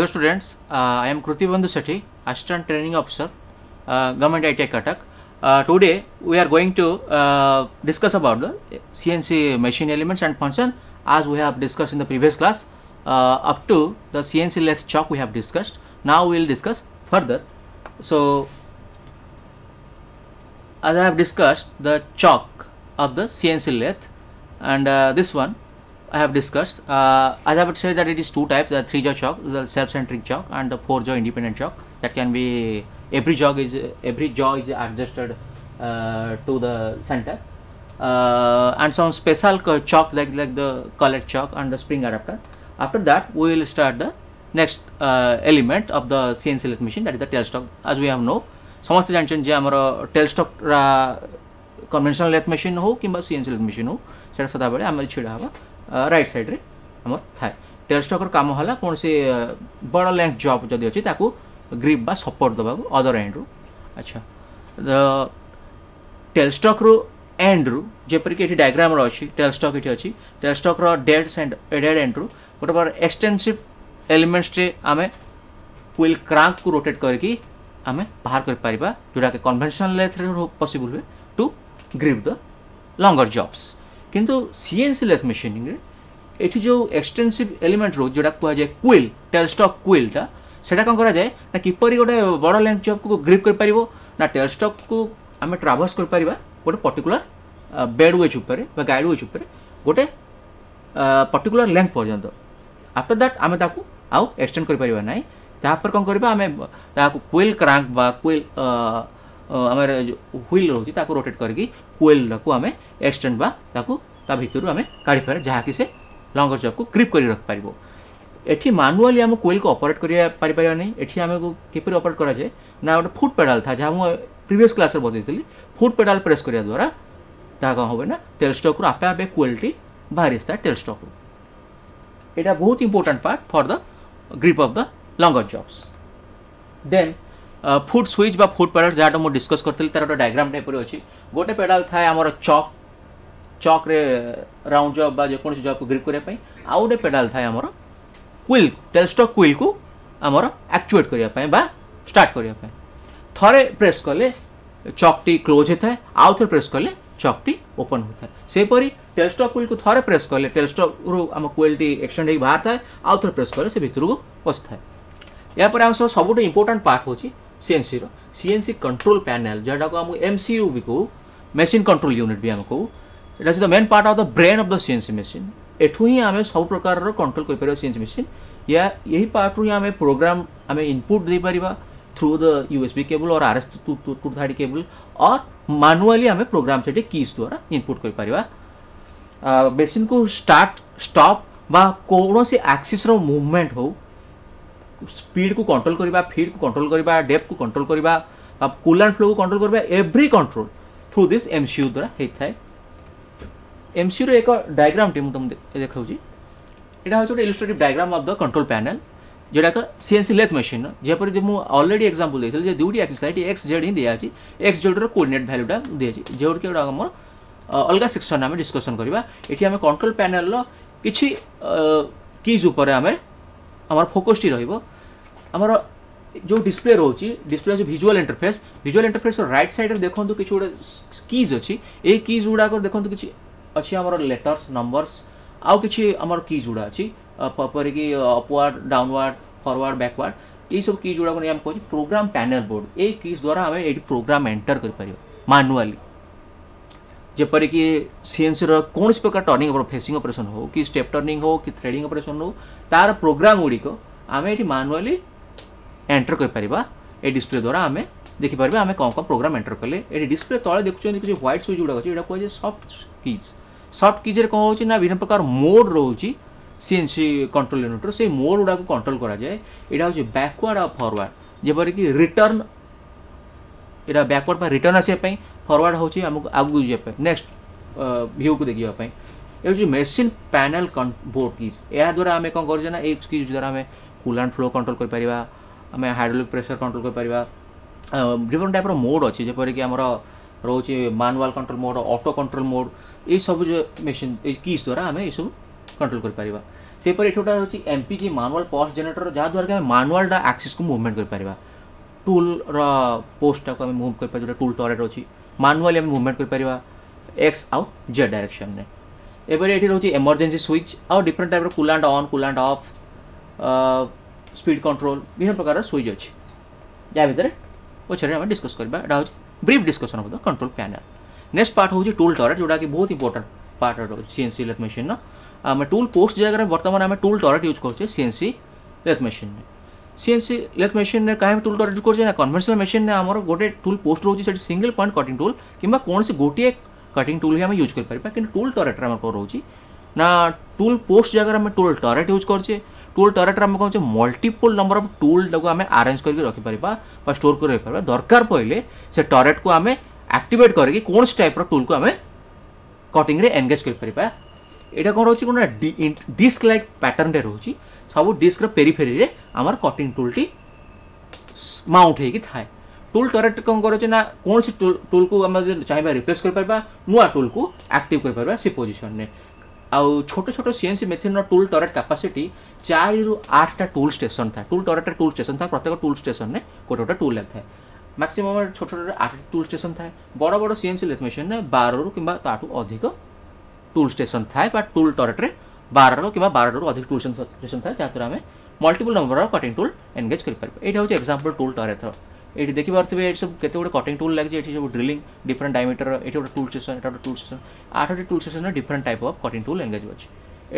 Hello students, I am Krutibandhu Sethi, Assistant Training Officer, Government ITI Cuttack. Today we are going to discuss about the CNC machine elements and function as we have discussed in the previous class. Up to the CNC lathe chuck we have discussed. Now we will discuss further. So, as I have discussed the chuck of the CNC lathe, and this one I have discussed. As I have said that it is two types, the 3-jaw chuck, the self-centric chuck, and the 4-jaw independent chuck. That can be every jaw is adjusted to the center, and some special chuck like the collet chuck and the spring adapter. After that, we will start the next element of the CNC lathe machine, that is the tailstock. As we have know, ସମସ୍ତେ ଜାଣିଛନ୍ତି ଯେ ଆମର ଟେଲଷ୍ଟକ୍ କନଭେନସନାଲ lathe machine ହଉ କିମ୍ବା CNC lathe machine ହଉ, ସେଇଟା ସଦାବେଳେ ଆମର ଛିଡ଼ା ହେବା ରାଇଟ୍ ସାଇଡ଼୍ରେ ଆମର ଥାଏ। ଟେଲଷ୍ଟକ୍ର କାମ ହେଲା କୌଣସି ବଡ଼ ଲେନ୍ଥ ଜବ୍ ଯଦି ଅଛି ତାକୁ ଗ୍ରିପ୍ ବା ସପୋର୍ଟ ଦେବାକୁ ଅଦର ଏଣ୍ଡରୁ। ଆଚ୍ଛା, ଟେଲଷ୍ଟକ୍ରୁ ଏଣ୍ଡରୁ ଯେପରିକି ଏଠି ଡାଇଗ୍ରାମର ଅଛି, ଟେଲଷ୍ଟକ୍ ଏଠି ଅଛି, ଟେଲଷ୍ଟକ୍ର ଡେଡ୍ ଏଣ୍ଡରୁ ଗୋଟେ ପ୍ରକାର ଏକ୍ସଟେନ୍ସିଭ୍ ଏଲିମେଣ୍ଟସରେ ଆମେ ହୁଇଲ୍ କ୍ରାଙ୍କକୁ ରୋଟେଟ୍ କରିକି ଆମେ ବାହାର କରିପାରିବା, ଯେଉଁଟାକି କନଭେନସନାଲ ଲେଥ୍ରେ ପସିବୁଲ୍ ହୁଏ to grip the longer jobs. କିନ୍ତୁ ସିଏନସି ଲେଥ୍ ମେସିନିଂରେ ଏଠି ଯେଉଁ ଏକ୍ସଟେନ୍ସିଭ୍ ଏଲିମେଣ୍ଟ ରହୁଛି, ଯେଉଁଟା କୁହାଯାଏ କୁଇଲ୍, ଟେଲଷ୍ଟକ୍ କୁଇଲ୍ଟା, ସେଇଟା କ'ଣ କରାଯାଏ ନା କିପରି ଗୋଟେ ବଡ଼ ଲେନ୍ଥ ଜବ୍କୁ ଗ୍ରିପ୍ କରିପାରିବ ନା ଟେଲଷ୍ଟକ୍କୁ ଆମେ ଟ୍ରାଭର୍ସ କରିପାରିବା ଗୋଟେ ପର୍ଟିକୁଲାର ବେଡ୍ ୱେଜ୍ ଉପରେ ବା ଗାଇଡ୍ ୱେଜ୍ ଉପରେ ଗୋଟେ ପର୍ଟିକୁଲାର ଲେନ୍ଥ ପର୍ଯ୍ୟନ୍ତ। ଆଫ୍ଟର that ଆମେ ତାକୁ ଆଉ ଏକ୍ସଟେଣ୍ଡ କରିପାରିବା ନାହିଁ। ତାପରେ କ'ଣ କରିବା, ଆମେ ତାକୁ କୁଇଲ୍ କ୍ରାଙ୍କ ବା କୁଇଲ୍ ଆମର ହୁଇଲ୍ ରହୁଛି ତାକୁ ରୋଟେଟ୍ କରିକି କୁଇଲ୍ଟାକୁ ଆମେ ଏକ୍ସଟେଣ୍ଡ ବା ତାକୁ ତା ଭିତରୁ ଆମେ କାଢ଼ିପାରିବା, ଯାହାକି ସେ ଲଙ୍ଗର ଜବ୍କୁ ଗ୍ରିପ୍ କରି ରଖିପାରିବ। ଏଠି ମାନୁଆଲି ଆମେ କୁଇଲ୍କୁ ଅପରେଟ୍ କରିବା ପାରିପାରିବା ନାହିଁ। ଏଠି ଆମକୁ କିପରି ଅପରେଟ୍ କରାଯାଏ ନା ଗୋଟେ ଫୁଟ୍ ପେଡ଼ାଲ୍ ଥାଏ, ଯାହା ମୁଁ ପ୍ରିଭିୟସ୍ କ୍ଲାସ୍ରେ ବତେଇଥିଲି। ଫୁଟ୍ ପେଡ଼ାଲ୍ ପ୍ରେସ୍ କରିବା ଦ୍ୱାରା ତାହା କ'ଣ ହେବ ନା ଟେଲଷ୍ଟକ୍ରୁ ଆପେ ଆପେ କୁଇଲ୍ଟି ବାହାରି ଆସିଥାଏ ଟେଲଷ୍ଟକ୍ରୁ। ଏଇଟା ବହୁତ important part for the grip of the longer jobs. Then foot switch ବା ଫୁଟ୍ ପେଡ଼ାଲ୍ ଯାହାଟା ମୁଁ ଡିସ୍କସ୍ କରିଥିଲି, ତାର ଗୋଟେ ଡାଇଗ୍ରାମ ଟାଇପ୍ର ଅଛି। ଗୋଟେ ପେଡ଼ାଲ୍ ଥାଏ ଆମର ଚକ୍ରେ ରାଉଣ୍ଡ ଜବ୍ ବା ଯେକୌଣସି ଜବ୍କୁ ଗ୍ରିପ୍ କରିବା ପାଇଁ, ଆଉ ଗୋଟେ ପେଡ଼ାଲ୍ ଥାଏ ଆମର କୁଇଲ୍, ଟେଲଷ୍ଟକ୍ କୁଇଲ୍କୁ ଆମର ଆକ୍ଚୁଏଟ୍ କରିବା ପାଇଁ ବା ଷ୍ଟାର୍ଟ କରିବା ପାଇଁ। ଥରେ ପ୍ରେସ୍ କଲେ ଚକ୍ଟି କ୍ଲୋଜ୍ ହୋଇଥାଏ, ଆଉ ଥରେ ପ୍ରେସ୍ କଲେ ଚକ୍ଟି ଓପନ୍ ହୋଇଥାଏ। ସେହିପରି ଟେଲଷ୍ଟକ୍ କୁଇଲ୍କୁ ଥରେ ପ୍ରେସ୍ କଲେ ଟେଲଷ୍ଟକ୍ରୁ ଆମ କୁଇଲ୍ଟି ଏକ୍ସଟେଣ୍ଡ ହେଇକି ବାହାରିଥାଏ, ଆଉ ଥରେ ପ୍ରେସ୍ କଲେ ସେ ଭିତରକୁ ପଶିଥାଏ। ଏହାପରେ ଆମ ସବୁଠୁ ଇମ୍ପୋର୍ଟାଣ୍ଟ ପାର୍ଟ ହେଉଛି ସିଏନସିର ସିଏନସି କଣ୍ଟ୍ରୋଲ ପ୍ୟାନେଲ୍, ଯେଉଁଟାକୁ ଆମକୁ ଏମସିୟୁ ବି କହୁ, ମେସିନ୍ କଣ୍ଟ୍ରୋଲ ୟୁନିଟ୍ ବି ଆମେ କହୁ। ଏଇଟା ହେଉଛି the main part of the brain of the CNC machine. ଏଠୁ ହିଁ ଆମେ ସବୁ ପ୍ରକାରର କଣ୍ଟ୍ରୋଲ କରିପାରିବା ସିଏନସି ମେସିନ୍। ୟା ଏହି ପାର୍ଟରୁ ହିଁ ଆମେ ପ୍ରୋଗ୍ରାମ ଆମେ ଇନପୁଟ୍ ଦେଇପାରିବା through the USB cable or RS-230 cable, or manually ଆମେ ପ୍ରୋଗ୍ରାମ ସେଠି କିଜ୍ ଦ୍ୱାରା ଇନପୁଟ୍ କରିପାରିବା। ମେସିନ୍କୁ ଷ୍ଟାର୍ଟ ଷ୍ଟପ୍ ବା କୌଣସି ଆକ୍ସିସ୍ର ମୁଭମେଣ୍ଟ ହଉ, ସ୍ପିଡକୁ କଣ୍ଟ୍ରୋଲ କରିବା, ଫିଡ୍କୁ କଣ୍ଟ୍ରୋଲ କରିବା, ଡେପ୍ଥକୁ କଣ୍ଟ୍ରୋଲ କରିବା ବା କୁଲାଣ୍ଟ ଫ୍ଲୋକୁ କଣ୍ଟ୍ରୋଲ କରିବା, every control through this MCU ଦ୍ୱାରା ହେଇଥାଏ। ଏମସିୟୁର ଏକ ଡାଇଗ୍ରାମଟି ମୁଁ ତୁମକୁ ଦେଖାଉଛି। ଏଇଟା ହେଉଛି ଗୋଟେ illustrative diagram of the control panel, ଯେଉଁଟାକି ସିଏନସି ଲେଥ୍ ମେସିନ୍। ଯେପରି ମୁଁ ଅଲରେଡ଼ି ଏକ୍ସାମ୍ପଲ୍ ଦେଇଥିଲି ଯେ ଦୁଇଟି ଆକ୍ସିସ୍ ଥାଏ, ଏଠି ଏକ୍ସ ଜେଡ୍ ହିଁ ଦିଆଯାଇଛି, ଏକ୍ସ ଜେଡ୍ର କୋଅର୍ଡିନେଟ୍ ଭ୍ୟାଲୁଟା ଦିଆଯାଇଛି, ଯେଉଁଠିକି ଗୋଟେ ଆମର ଅଲଗା ସେକ୍ସନ୍ ଆମେ ଡିସ୍କସନ୍ କରିବା। ଏଠି ଆମେ କଣ୍ଟ୍ରୋଲ ପ୍ୟାନେଲ୍ର କିଛି କିଜ୍ ଉପରେ ଆମେ ଆମର ଫୋକସ୍ଟି ରହିବ। ଆମର ଯେଉଁ ଡିସପ୍ଲେ ରହୁଛି, ଡିସପ୍ଲେ ହେଉଛି ଭିଜୁଆଲ୍ ଇଣ୍ଟରଫେସ୍। ଭିଜୁଆଲ୍ ଇଣ୍ଟରଫେସ୍ର ରାଇଟ୍ ସାଇଡ଼୍ରେ ଦେଖନ୍ତୁ କିଛି ଗୋଟେ କିଜ୍ ଅଛି। ଏଇ କିଜ୍ ଗୁଡ଼ାକ ଦେଖନ୍ତୁ କିଛି ଅଛି ଆମର ଲେଟର୍ସ, ନମ୍ବର୍ସ, ଆଉ କିଛି ଆମର କିଜ୍ ଗୁଡ଼ା ଅଛି, ଯେପରିକି ଅପୱାର୍ଡ଼, ଡାଉନୱାର୍ଡ଼, ଫରୱାର୍ଡ଼, ବ୍ୟାକୱାର୍ଡ଼। ଏଇସବୁ କିଜ୍ ଗୁଡ଼ାକୁ ନେଇ ଆମେ କହୁଛୁ ପ୍ରୋଗ୍ରାମ ପ୍ୟାନେଲ୍ ବୋର୍ଡ଼। ଏଇ କିଜ୍ ଦ୍ୱାରା ଆମେ ଏଇଠି ପ୍ରୋଗ୍ରାମ ଏଣ୍ଟର କରିପାରିବା ମାନୁଆଲି। ଯେପରିକି ସିଏନସିର କୌଣସି ପ୍ରକାର ଟର୍ଣ୍ଣିଂ ଫେସିଂ ଅପରେସନ୍ ହେଉ କି ଷ୍ଟେପ୍ ଟର୍ଣ୍ଣିଂ ହେଉ କି ଥ୍ରେଡ଼ିଂ ଅପରେସନ୍ ହେଉ, ତାର ପ୍ରୋଗ୍ରାମ ଗୁଡ଼ିକ ଆମେ ଏଠି ମାନୁଆଲି ଏଣ୍ଟର କରିପାରିବା। ଏ ଡିସପ୍ଲେ ଦ୍ୱାରା ଆମେ ଦେଖିପାରିବା ଆମେ କ'ଣ କ'ଣ ପ୍ରୋଗ୍ରାମ ଏଣ୍ଟର କଲେ। ଏଠି ଡିସପ୍ଲେ ତଳେ ଦେଖୁଛନ୍ତି କିଛି ହ୍ୱାଇଟ୍ ସୁଇଚ୍ ଗୁଡ଼ାକ ଅଛି, ଏଇଟା କୁହାଯାଏ ସଫ୍ଟ କିଜ୍। ସଫ୍ଟ କିଜ୍ରେ କ'ଣ ହେଉଛି ନା ବିଭିନ୍ନ ପ୍ରକାର ମୋଡ୍ ରହୁଛି ସିଏନସି କଣ୍ଟ୍ରୋଲ ୟୁନିଟ୍ର, ସେଇ ମୋଡ୍ ଗୁଡ଼ାକୁ କଣ୍ଟ୍ରୋଲ କରାଯାଏ। ଏଇଟା ହେଉଛି ବ୍ୟାକୱାର୍ଡ଼ ଆଉ ଫରୱାର୍ଡ଼, ଯେପରିକି ରିଟର୍ନ, ଏଇଟା ବ୍ୟାକୱାର୍ଡ଼ ବା ରିଟର୍ନ ଆସିବା ପାଇଁ, ଫରୱାର୍ଡ଼ ହେଉଛି ଆମକୁ ଆଗକୁ ଯିବା ପାଇଁ, ନେକ୍ସଟ ଭ୍ୟୁକୁ ଦେଖିବା ପାଇଁ। ଏ ହେଉଛି ମେସିନ୍ ପ୍ୟାନେଲ୍ ବୋର୍ଡ଼ କିଜ୍। ଏହାଦ୍ୱାରା ଆମେ କ'ଣ କରୁଛେ ନା ଏଇ କିଜ୍ ଦ୍ୱାରା ଆମେ କୁଲାଣ୍ଟ ଫ୍ଲୋ କଣ୍ଟ୍ରୋଲ କରିପାରିବା, ଆମେ ହାଇଡ୍ରୋଲିକ୍ ପ୍ରେସର କଣ୍ଟ୍ରୋଲ କରିପାରିବା। ବିଭିନ୍ନ ଟାଇପ୍ର ମୋଡ୍ ଅଛି, ଯେପରିକି ଆମର ରହୁଛି manual control mode, auto control mode. ଏଇସବୁ ଯେଉଁ ମେସିନ୍ ଏଇ କିଜ୍ ଦ୍ୱାରା ଆମେ ଏଇସବୁ କଣ୍ଟ୍ରୋଲ କରିପାରିବା। ସେହିପରି ଏଠି ଗୋଟେ ରହୁଛି ଏମ୍ପିଜି ମାନୁଆଲ୍ ପଲ୍ସ ଜେନେରେଟର, ଯାହାଦ୍ୱାରା କି ଆମେ ମାନୁଆଲଟା ଆକ୍ସିସ୍କୁ ମୁଭମେଣ୍ଟ କରିପାରିବା। ଟୁଲ୍ର ପୋଷ୍ଟଟାକୁ ଆମେ ମୁଭ୍ କରିପାରିବା, ଯେଉଁଟା ଟୁଲ୍ ଟରେଟ୍ ଅଛି ମାନୁଆଲି ଆମେ ମୁଭମେଣ୍ଟ କରିପାରିବା ଏକ୍ସ ଆଉ ଜେଡ୍ ଡାଇରେକ୍ସନରେ। ଏପରି ଏଠି ରହୁଛି ଏମର୍ଜେନ୍ସି ସୁଇଚ୍ ଆଉ ଡିଫରେଣ୍ଟ ଟାଇପ୍ର coolant on, coolant off, speed control, ବିଭିନ୍ନ ପ୍ରକାରର ସୁଇଚ୍ ଅଛି, ଯାହା ଭିତରେ ପଛରେ ଆମେ ଡିସ୍କସ୍ କରିବା। ଏଇଟା ହେଉଛି brief discussion of the control panel. Next part ହେଉଛି ଟୁଲ୍ ଟରେଟ୍, ଯେଉଁଟାକି ବହୁତ ଇମ୍ପୋର୍ଟାଣ୍ଟ ପାର୍ଟ ରହୁଛି ସିଏନ୍ସି ଲେଥ୍ ମେସିନ୍ର। ଆମେ ଟୁଲ୍ ପୋଷ୍ଟ ଜାଗାରେ ବର୍ତ୍ତମାନ ଆମେ ଟୁଲ୍ ଟରେଟ୍ ୟୁଜ୍ କରୁଛେ ସିଏନ୍ସି ଲେଥ୍ ମେସିନ୍ରେ। ସିଏନ୍ସି ଲେଥ୍ ମେସିନ୍ରେ କାହିଁକି ଟୁଲ୍ ଟରେଟ୍ ୟୁଜ୍ କରୁଛେ ନା, କନଭେନ୍ସନାଲ୍ ମେସିନ୍ରେ ଆମର ଗୋଟେ ଟୁଲ୍ ପୋଷ୍ଟ ରହୁଛି, ସେଠି ସିଙ୍ଗଲ୍ ପଏଣ୍ଟ କଟିଂ ଟୁଲ୍ କିମ୍ବା କୌଣସି ଗୋଟିଏ କଟିଂ ଟୁଲ୍ ହିଁ ଆମେ ୟୁଜ୍ କରିପାରିବା। କିନ୍ତୁ ଟୁଲ୍ ଟରେଟ୍ରେ ଆମର କ'ଣ ରହୁଛି ନା, ଟୁଲ୍ ପୋଷ୍ଟ ଜାଗାରେ ଆମେ ଟୁଲ୍ ଟରେଟ୍ ୟୁଜ୍ କରୁଛେ। ଟୁଲ୍ ଟରେଟ୍ରେ ଆମେ କହୁଛେ ମଲ୍ଟିପୁଲ୍ ନମ୍ବର ଅଫ୍ ଟୁଲ୍ଟାକୁ ଆମେ ଆରେଞ୍ଜ କରିକି ରଖିପାରିବା ବା ଷ୍ଟୋର୍ କରି ରଖିପାରିବା। ଦରକାର ପଡ଼ିଲେ ସେ ଟରେଟ୍କୁ ଆମେ ଆକ୍ଟିଭେଟ୍ କରିକି କୌଣସି ଟାଇପ୍ର ଟୁଲ୍କୁ ଆମେ କଟିଂରେ ଏନଗେଜ୍ କରିପାରିବା। ଏଇଟା କ'ଣ ରହୁଛି, କ'ଣ ଡିସ୍କ ଲାଇକ୍ ପ୍ୟାଟର୍ନରେ ରହୁଛି, ସବୁ ଡିସ୍କର ପେରିଫେରିରେ ଆମର କଟିଂ ଟୁଲ୍ଟି ମାଉଣ୍ଟ ହେଇକି ଥାଏ। ଟୁଲ୍ ଟରେଟ୍ କ'ଣ କରୁଛି ନା, କୌଣସି ଟୁଲ୍କୁ ଆମେ ଯଦି ଚାହିଁବା ରିପ୍ଲେସ୍ କରିପାରିବା, ନୂଆ ଟୁଲ୍କୁ ଆକ୍ଟିଭ୍ କରିପାରିବା ସେ ପୋଜିସନ୍ରେ। ଆଉ ଛୋଟ ଛୋଟ ସିଏନ୍ସି ମେସିନ୍ର ଟୁଲ୍ ଟରେଟ୍ କାପାସିଟି 4ରୁ 8ଟା ଟୁଲ୍ ଷ୍ଟେସନ୍ ଥାଏ। ଟୁଲ୍ ଟରେଟ୍ରେ ଟୁଲ୍ ଷ୍ଟେସନ୍ ଥାଏ, ପ୍ରତ୍ୟେକ ଟୁଲ୍ ଷ୍ଟେସନ୍ରେ ଗୋଟେ ଗୋଟେ ଟୁଲ୍ ଲାଗିଥାଏ। ମ୍ୟାକ୍ସିମମ୍ ଛୋଟ ଛୋଟ 8 ଟୁଲ୍ ଷ୍ଟେସନ୍ ଥାଏ। ବଡ଼ ବଡ଼ ସିଏନ୍ସି ଲେଥ୍ ମେସିନ୍ରେ 12ରୁ କିମ୍ବା ତାଠୁ ଅଧିକ ଟୁଲ୍ ଷ୍ଟେସନ୍ ଥାଏ, ବା ଟୁଲ୍ ଟରେଟ୍ରେ 12 କିମ୍ବା 12ରୁ ଅଧିକ ଟୁଲ୍ ଷ୍ଟେସନ୍ ଥାଏ, ଯାହାଦ୍ୱାରା ଆମେ multiple number of cutting tool engage କରିପାରିବା। ଏଇଟା ହେଉଛି ଏକ୍ସାମ୍ପଲ୍ ଟୁଲ୍ ଟରେଟ୍ର। ଏଇଠି ଦେଖିପାରୁଥିବେ ଏଠି ସବୁ କେତେ ଗୁଡ଼ିଏ କଟିଂ ଟୁଲ୍ ଲାଗିଛି। ଏଠି ସବୁ ଡ୍ରିଲିଂ ଡିଫରେଣ୍ଟ ଡାଇମିଟର, ଏଠି ଗୋଟେ ଟୁଲ୍ ଷ୍ଟେସନ୍, ଏଟା ଗୋଟେ ଟୁଲ୍ ଷ୍ଟେସନ୍, 8ଟି ଟୁଲ୍ ଷ୍ଟେସନ୍ରେ different type of cutting tool engage ଅଛି।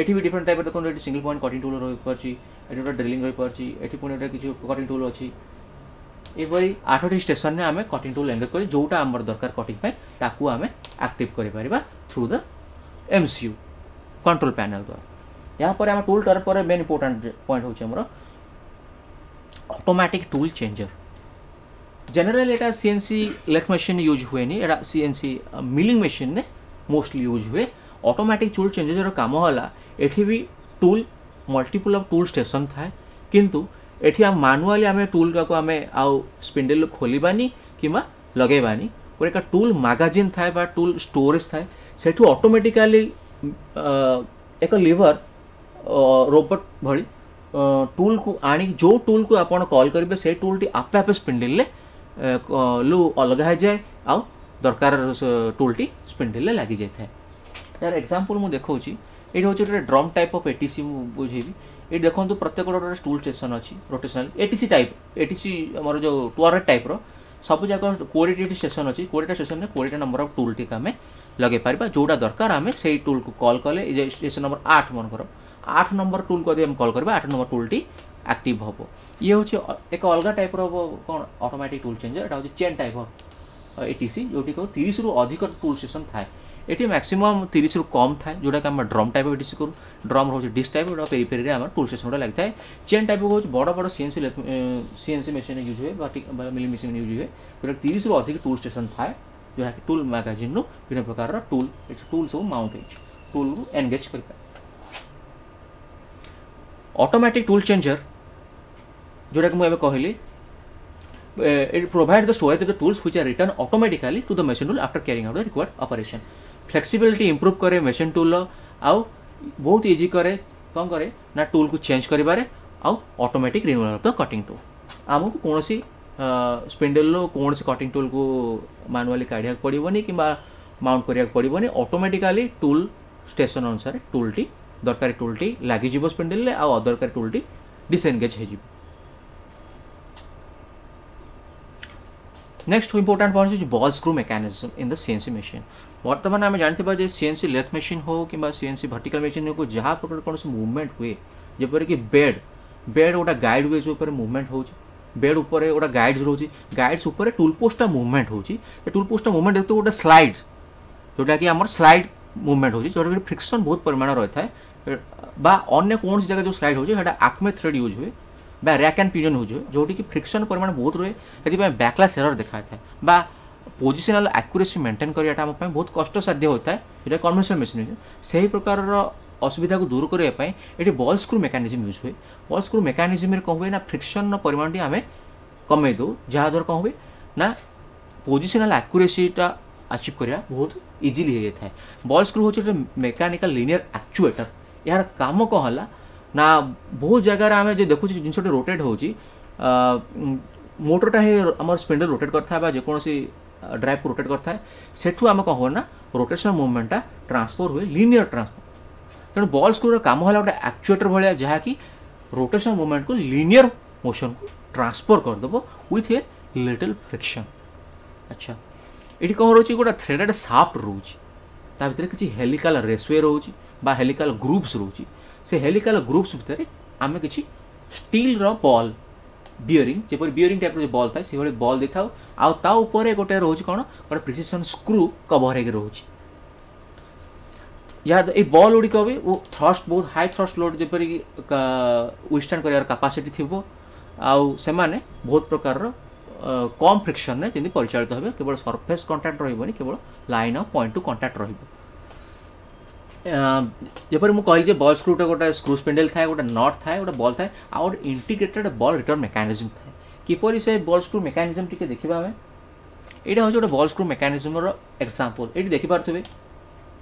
ଏଠି ବି ଡିଫରେଣ୍ଟ ଟାଇପ୍ର ଦେଖନ୍ତୁ, ଏଠି ସିଙ୍ଗଲ୍ ପଏଣ୍ଟ କଟିଂ ଟୁଲ୍ ରହିପାରୁଛି, ଏଠି ଗୋଟେ ଡ୍ରିଲିଂ ରହିପାରୁଛି, ଏଠି ପୁଣି ଗୋଟେ କିଛି କଟିଂ ଟୁଲ୍ ଅଛି। ଏପରି 8ଟି ଷ୍ଟେସନରେ ଆମେ କଟିଂ ଟୁଲ୍ ଏନଗେଜ୍ କରି ଯେଉଁଟା ଆମର ଦରକାର କଟିଂ ପାଇଁ ତାକୁ ଆମେ ଆକ୍ଟିଭ୍ କରିପାରିବା through the MCU control panel ଦ୍ୱାରା। ଏହାପରେ ଆମ ଟୁଲ୍ ଟରେଟ୍ ପରେ ମେନ୍ ଇମ୍ପୋର୍ଟାଣ୍ଟ ପଏଣ୍ଟ ହେଉଛି ଆମର ଅଟୋମେଟିକ୍ ଟୁଲ୍ ଚେଞ୍ଜର। ଜେନେରାଲି ଏଇଟା ସିଏନ୍ସି ଲେଥ୍ ମେସିନ୍ ୟୁଜ୍ ହୁଏନି, ଏଇଟା ସିଏନ୍ସି ମିଲିଂ ମେସିନ୍ରେ ମୋଷ୍ଟଲି ୟୁଜ୍ ହୁଏ। ଅଟୋମେଟିକ୍ ଟୁଲ୍ ଚେଞ୍ଜର କାମ ହେଲା, ଏଠି ବି tool multiple of tool station ଥାଏ, କିନ୍ତୁ ଏଠି ଆମେ ମାନୁଆଲି ଆମେ ଟୁଲ୍ଟାକୁ ଆମେ ଆଉ ସ୍ପିଣ୍ଡେଲ୍ ଖୋଲିବାନି କିମ୍ବା ଲଗେଇବାନି। ଗୋଟେ ଏକ ଟୁଲ୍ ମାଗାଜିନ୍ ଥାଏ ବା ଟୁଲ୍ ଷ୍ଟୋରେଜ୍ ଥାଏ, ସେଠୁ ଅଟୋମେଟିକାଲି ଏକ ଲିଭର ରୋବୋଟ୍ ଭଳି ଟୁଲ୍କୁ ଆଣି ଯେଉଁ ଟୁଲ୍କୁ ଆପଣ କଲ୍ କରିବେ ସେଇ ଟୁଲ୍ଟି ଆପେ ଆପେ ସ୍ପିଣ୍ଡେଲ୍ରେ ଲୁ ଅଲଗା ହେଇଯାଏ ଆଉ ଦରକାର ଟୁଲ୍ଟି ସ୍ପିଣ୍ଡେଲ୍ରେ ଲାଗିଯାଇଥାଏ। ଏହାର ଏକ୍ସାମ୍ପଲ୍ ମୁଁ ଦେଖାଉଛି। ଏଇଠି ହେଉଛି ଗୋଟେ ଡ୍ରମ୍ ଟାଇପ୍ ଅଫ୍ ଏଟିସି, ମୁଁ ବୁଝେଇବି। ଏଇଠି ଦେଖନ୍ତୁ ପ୍ରତ୍ୟେକ ଗୋଟେ ଟୁଲ୍ ଷ୍ଟେସନ୍ ଅଛି, ରୋଟେସନାଲ୍ ଏଟିସି ଟାଇପ୍, ଏଟିସି ଆମର ଯେଉଁ ଟୁଆରେଟ୍ ଟାଇପ୍ର ସବୁ ଯାକ 20ଟି ଏଠି ଷ୍ଟେସନ୍ ଅଛି। 20ଟା ଷ୍ଟେସନ୍ରେ 20ଟା ନମ୍ବର ଅଫ୍ ଟୁଲ୍ଟିକୁ ଆମେ ଲଗେଇ ପାରିବା। ଯେଉଁଟା ଦରକାର ଆମେ ସେଇ ଟୁଲ୍କୁ କଲ୍ କଲେ, ଏ ଯେ ଷ୍ଟେସନ୍ ନମ୍ବର 8, ମନେକର 8 ନମ୍ବର ଟୁଲ୍କୁ ଯଦି ଆମେ କଲ୍ କରିବା, 8 ନମ୍ବର ଟୁଲ୍ଟି ଆକ୍ଟିଭ୍ ହେବ। ଇଏ ହେଉଛି ଏକ ଅଲଗା ଟାଇପ୍ର କ'ଣ ଅଟୋମେଟିକ୍ ଟୁଲ୍ ଚେଞ୍ଜର। ଏଇଟା ହେଉଛି ଚେନ୍ ଟାଇପ୍ ଅଫ୍ ଏଟିସି, ଯେଉଁଠି 30ରୁ ଅଧିକ ଟୁଲ୍ ଷ୍ଟେସନ୍ ଥାଏ। ଏଠି ମ୍ୟାକ୍ସିମମ୍ 30ରୁ କମ୍ ଥାଏ, ଯେଉଁଟାକି ଆମେ ଡ୍ରମ୍ ଟାଇପ୍ ଅଫ୍ ଏଟିସି କରୁ। ଡ୍ରମ୍ ରହୁଛି ଡିସ୍କ ଟାଇପ୍, ଯେଉଁଟା ପେରିଫେରିରେ ଆମର ଟୁଲ୍ ଷ୍ଟେସନ୍ ଗୁଡ଼ା ଲାଗିଥାଏ। ଚେନ୍ ଟାଇପ୍ ହେଉଛି ବଡ଼ ବଡ଼ ସିଏନ୍ସି ମେସିନ୍ ୟୁଜ୍ ହୁଏ ବା ମିଲିଂ ମେସିନ୍ ୟୁଜ୍ ହୁଏ, ଯେଉଁଟା 30ରୁ ଅଧିକ ଟୁଲ୍ ଷ୍ଟେସନ୍ ଥାଏ, ଯାହାକି ଟୁଲ୍ ମାଗାଜିନ୍ରୁ ବିଭିନ୍ନ ପ୍ରକାରର ଟୁଲ୍, ଏଠି ଟୁଲ୍ ସବୁ ମାଉଣ୍ଟ ହେଇଛି, ଟୁଲ୍କୁ ଏନଗେଜ୍ କରିପାରେ। ଅଟୋମେଟିକ୍ ଟୁଲ୍ ଚେଞ୍ଜର ଯେଉଁଟାକି ମୁଁ ଏବେ କହିଲି, it provide the storage of the tools which are returned automatically to the machine tool after carrying out the required operation. Flexibility improve କରେ machine tool ଆଉ ବହୁତ ଇଜି କରେ, କ'ଣ କରେ ନା ଟୁଲ୍କୁ ଚେଞ୍ଜ କରିବାରେ ଆଉ automatic renewal of the cutting tool. ଆମକୁ କୌଣସି ସ୍ପିଣ୍ଡେଲରୁ କୌଣସି କଟିଂ ଟୁଲ୍କୁ ମାନୁଆଲି କାଢ଼ିବାକୁ ପଡ଼ିବନି କିମ୍ବା ମାଉଣ୍ଟ କରିବାକୁ ପଡ଼ିବନି। ଅଟୋମେଟିକାଲି ଟୁଲ୍ ଷ୍ଟେସନ୍ ଅନୁସାରେ ଟୁଲ୍ଟି ଦରକାରୀ ଟୁଲ୍ଟି ଲାଗିଯିବ ସ୍ପିଣ୍ଡେଲରେ ଆଉ ଅଦରକାରୀ ଟୁଲ୍ଟି ଡିସଏନଗେଜ୍ ହେଇଯିବ। ନେକ୍ସଟ ଇମ୍ପୋର୍ଟାଣ୍ଟ ପଏଣ୍ଟ ହେଉଛି ball screw mechanism in the CNC machine. ବର୍ତ୍ତମାନ ଆମେ ଜାଣିଥିବା ଯେ ସିଏନ୍ସି ଲେଥ୍ ମେସିନ୍ ହେଉ କିମ୍ବା ସିଏନ୍ସି ଭର୍ଟିକାଲ ମେସିନ୍ ହେଉ, ଯାହା ପ୍ରକାର କୌଣସି ମୁଭମେଣ୍ଟ ହୁଏ, ଯେପରିକି ବେଡ୍, ବେଡ୍ ଗୋଟେ ଗାଇଡ୍ ୱେଜ୍ ଉପରେ ମୁଭମେଣ୍ଟ ହେଉଛି, ବେଡ୍ ଉପରେ ଗୋଟେ ଗାଇଡ୍ସ ରହୁଛି, ଗାଇଡ୍ସ ଉପରେ ଟୁଲ୍ ପୋଷ୍ଟଟା ମୁଭମେଣ୍ଟ ହେଉଛି। ସେ ଟୁଲ୍ ପୋଷ୍ଟଟା ମୁଭମେଣ୍ଟ ଯେହେତୁ ଗୋଟେ ସ୍ଲାଇଡ୍, ଯେଉଁଟାକି ଆମର ସ୍ଲାଇଡ୍ ମୁଭମେଣ୍ଟ ହେଉଛି, ଯେଉଁଟାକି ଫ୍ରିକ୍ସନ୍ ବହୁତ ପରିମାଣ ରହିଥାଏ, ବା ଅନ୍ୟ କୌଣସି ଜାଗାରେ ଯେଉଁ ସ୍ଲାଇଡ୍ ହେଉଛି ସେଇଟା ଆକ୍ମେ ଥ୍ରେଡ୍ ୟୁଜ୍ ହୁଏ ବା ର୍ୟାକ୍ ଆଣ୍ଡ ପିନିୟନ୍ ୟୁଜ୍ ହୁଏ, ଯେଉଁଠିକି ଫ୍ରିକ୍ସନ୍ ପରିମାଣ ବହୁତ ରୁହେ, ସେଥିପାଇଁ ବ୍ୟାକ୍ଲାସ୍ ଏରର୍ ଦେଖାଯାଇଥାଏ ବା ପୋଜିସନାଲ୍ ଆକ୍ୟୁରେସି ମେଣ୍ଟେନ୍ କରିବାଟା ଆମ ପାଇଁ ବହୁତ କଷ୍ଟସାଧ୍ୟ ହୋଇଥାଏ, ଯେଉଁଟା କନଭେନ୍ସନାଲ୍ ମେସିନ୍ ହେଉଛି। ସେହି ପ୍ରକାରର ଅସୁବିଧାକୁ ଦୂର କରିବା ପାଇଁ ଏଠି ବଲ୍ ସ୍କ୍ରୁ ମେକାନିଜିମ୍ ୟୁଜ୍ ହୁଏ। ବଲ୍ ସ୍କ୍ରୁ ମେକାନିଜିମ୍ରେ କ'ଣ ହୁଏ ନା ଫ୍ରିକ୍ସନ୍ର ପରିମାଣଟି ଆମେ କମେଇ ଦେଉ, ଯାହାଦ୍ୱାରା କ'ଣ ହୁଏ ନା ପୋଜିସନାଲ୍ ଆକ୍ୟୁରେସିଟା ଆଚିଭ୍ କରିବା ବହୁତ ଇଜିଲି ହେଇଯାଇଥାଏ। ବଲ୍ ସ୍କ୍ରୁ ହେଉଛି ଗୋଟେ ମେକାନିକାଲ୍ ଲିନିୟର ଆକ୍ଚୁଏଟର। ଏହାର କାମ କ'ଣ ହେଲା ନା ବହୁତ ଜାଗାରେ ଆମେ ଯେ ଦେଖୁଛୁ ଜିନିଷଟି ରୋଟେଟ୍ ହେଉଛି, ମୋଟରଟା ହିଁ ଆମର ସ୍ପିଣ୍ଡଲ ରୋଟେଟ୍ କରିଥାଏ ବା ଯେକୌଣସି ଡ୍ରାଇଭ୍କୁ ରୋଟେଟ୍ କରିଥାଏ। ସେଠୁ ଆମେ କ'ଣ ହୁଏ ନା ରୋଟେସନାଲ ମୁଭମେଣ୍ଟଟା ଟ୍ରାନ୍ସଫର ହୁଏ, ଲିନିୟର ଟ୍ରାନ୍ସଫର। ତେଣୁ ବଲ୍ ସ୍କ୍ରୁର କାମ ହେଲା ଗୋଟେ ଆକ୍ଚୁଏଟର ଭଳିଆ, ଯାହାକି ରୋଟେସନାଲ ମୁଭମେଣ୍ଟକୁ ଲିନିୟର ମୋସନକୁ ଟ୍ରାନ୍ସଫର କରିଦେବ ୱିଥ୍ ଏ ଲିଟଲ୍ ଫ୍ରିକ୍ସନ୍। ଆଚ୍ଛା, ଏଠି କ'ଣ ରହୁଛି? ଗୋଟେ ଥ୍ରେଡେଡ୍ ସାଫ୍ଟ ରହୁଛି, ତା ଭିତରେ କିଛି ହେଲିକାଲ ରେସୱେ ରହୁଛି ବା ହେଲିକାଲ ଗ୍ରୁପ୍ସ ରହୁଛି। ସେ ହେଲିକାଲ ଗ୍ରୁପ୍ସ ଭିତରେ ଆମେ କିଛି ଷ୍ଟିଲ୍ର ବଲ୍ ବିୟରିଂ, ଯେପରି ବିୟରିଂ ଟାଇପ୍ର ଯେଉଁ ବଲ୍ ଥାଏ ସେଭଳି ବଲ୍ ଦେଇଥାଉ, ଆଉ ତା ଉପରେ ଗୋଟେ ରହୁଛି କ'ଣ, ଗୋଟେ ପ୍ରିସିସନ୍ ସ୍କ୍ରୁ କଭର ହେଇକି ରହୁଛି। ଏହା ଏଇ ବଲ୍ ଗୁଡ଼ିକ ବି ଥ୍ରଷ୍ଟ, ବହୁତ ହାଇ ଥ୍ରଷ୍ଟ ଲୋଡ୍ ଯେପରିକି ୱିଥଷ୍ଟାଣ୍ଡ କରିବାର କାପାସିଟି ଥିବ, ଆଉ ସେମାନେ ବହୁତ ପ୍ରକାରର କମ୍ ଫ୍ରିକ୍ସନ୍ରେ ଯେମିତି ପରିଚାଳିତ ହେବେ। କେବଳ ସର୍ଫେସ୍ କଣ୍ଟାକ୍ଟ ରହିବନି, କେବଳ ଲାଇନ୍ ଆଉ ପଏଣ୍ଟ ଟୁ କଣ୍ଟାକ୍ଟ ରହିବ। ଯେପରି ମୁଁ କହିଲି ଯେ ବଲ୍ ସ୍କ୍ରୁଟା ଗୋଟେ ସ୍କ୍ରୁ ସ୍ପିଣ୍ଡେଲ୍ ଥାଏ, ଗୋଟେ not ଥାଏ, ଗୋଟେ ବଲ୍ ଥାଏ, ଆଉ ଗୋଟେ ଇଣ୍ଟିଗ୍ରେଟେଡ୍ ବଲ୍ ରିଟର୍ନ ମେକାନିଜମ୍ ଥାଏ। କିପରି ସେ ବଲ୍ ସ୍କ୍ରୁ ମେକାନିଜମ୍ ଟିକେ ଦେଖିବା ଆମେ। ଏଇଟା ହେଉଛି ଗୋଟେ ବଲ୍ ସ୍କ୍ରୁ ମେକାନିଜମ୍ର ଏକ୍ସାମ୍ପଲ୍। ଏଇଠି ଦେଖିପାରୁଥିବେ,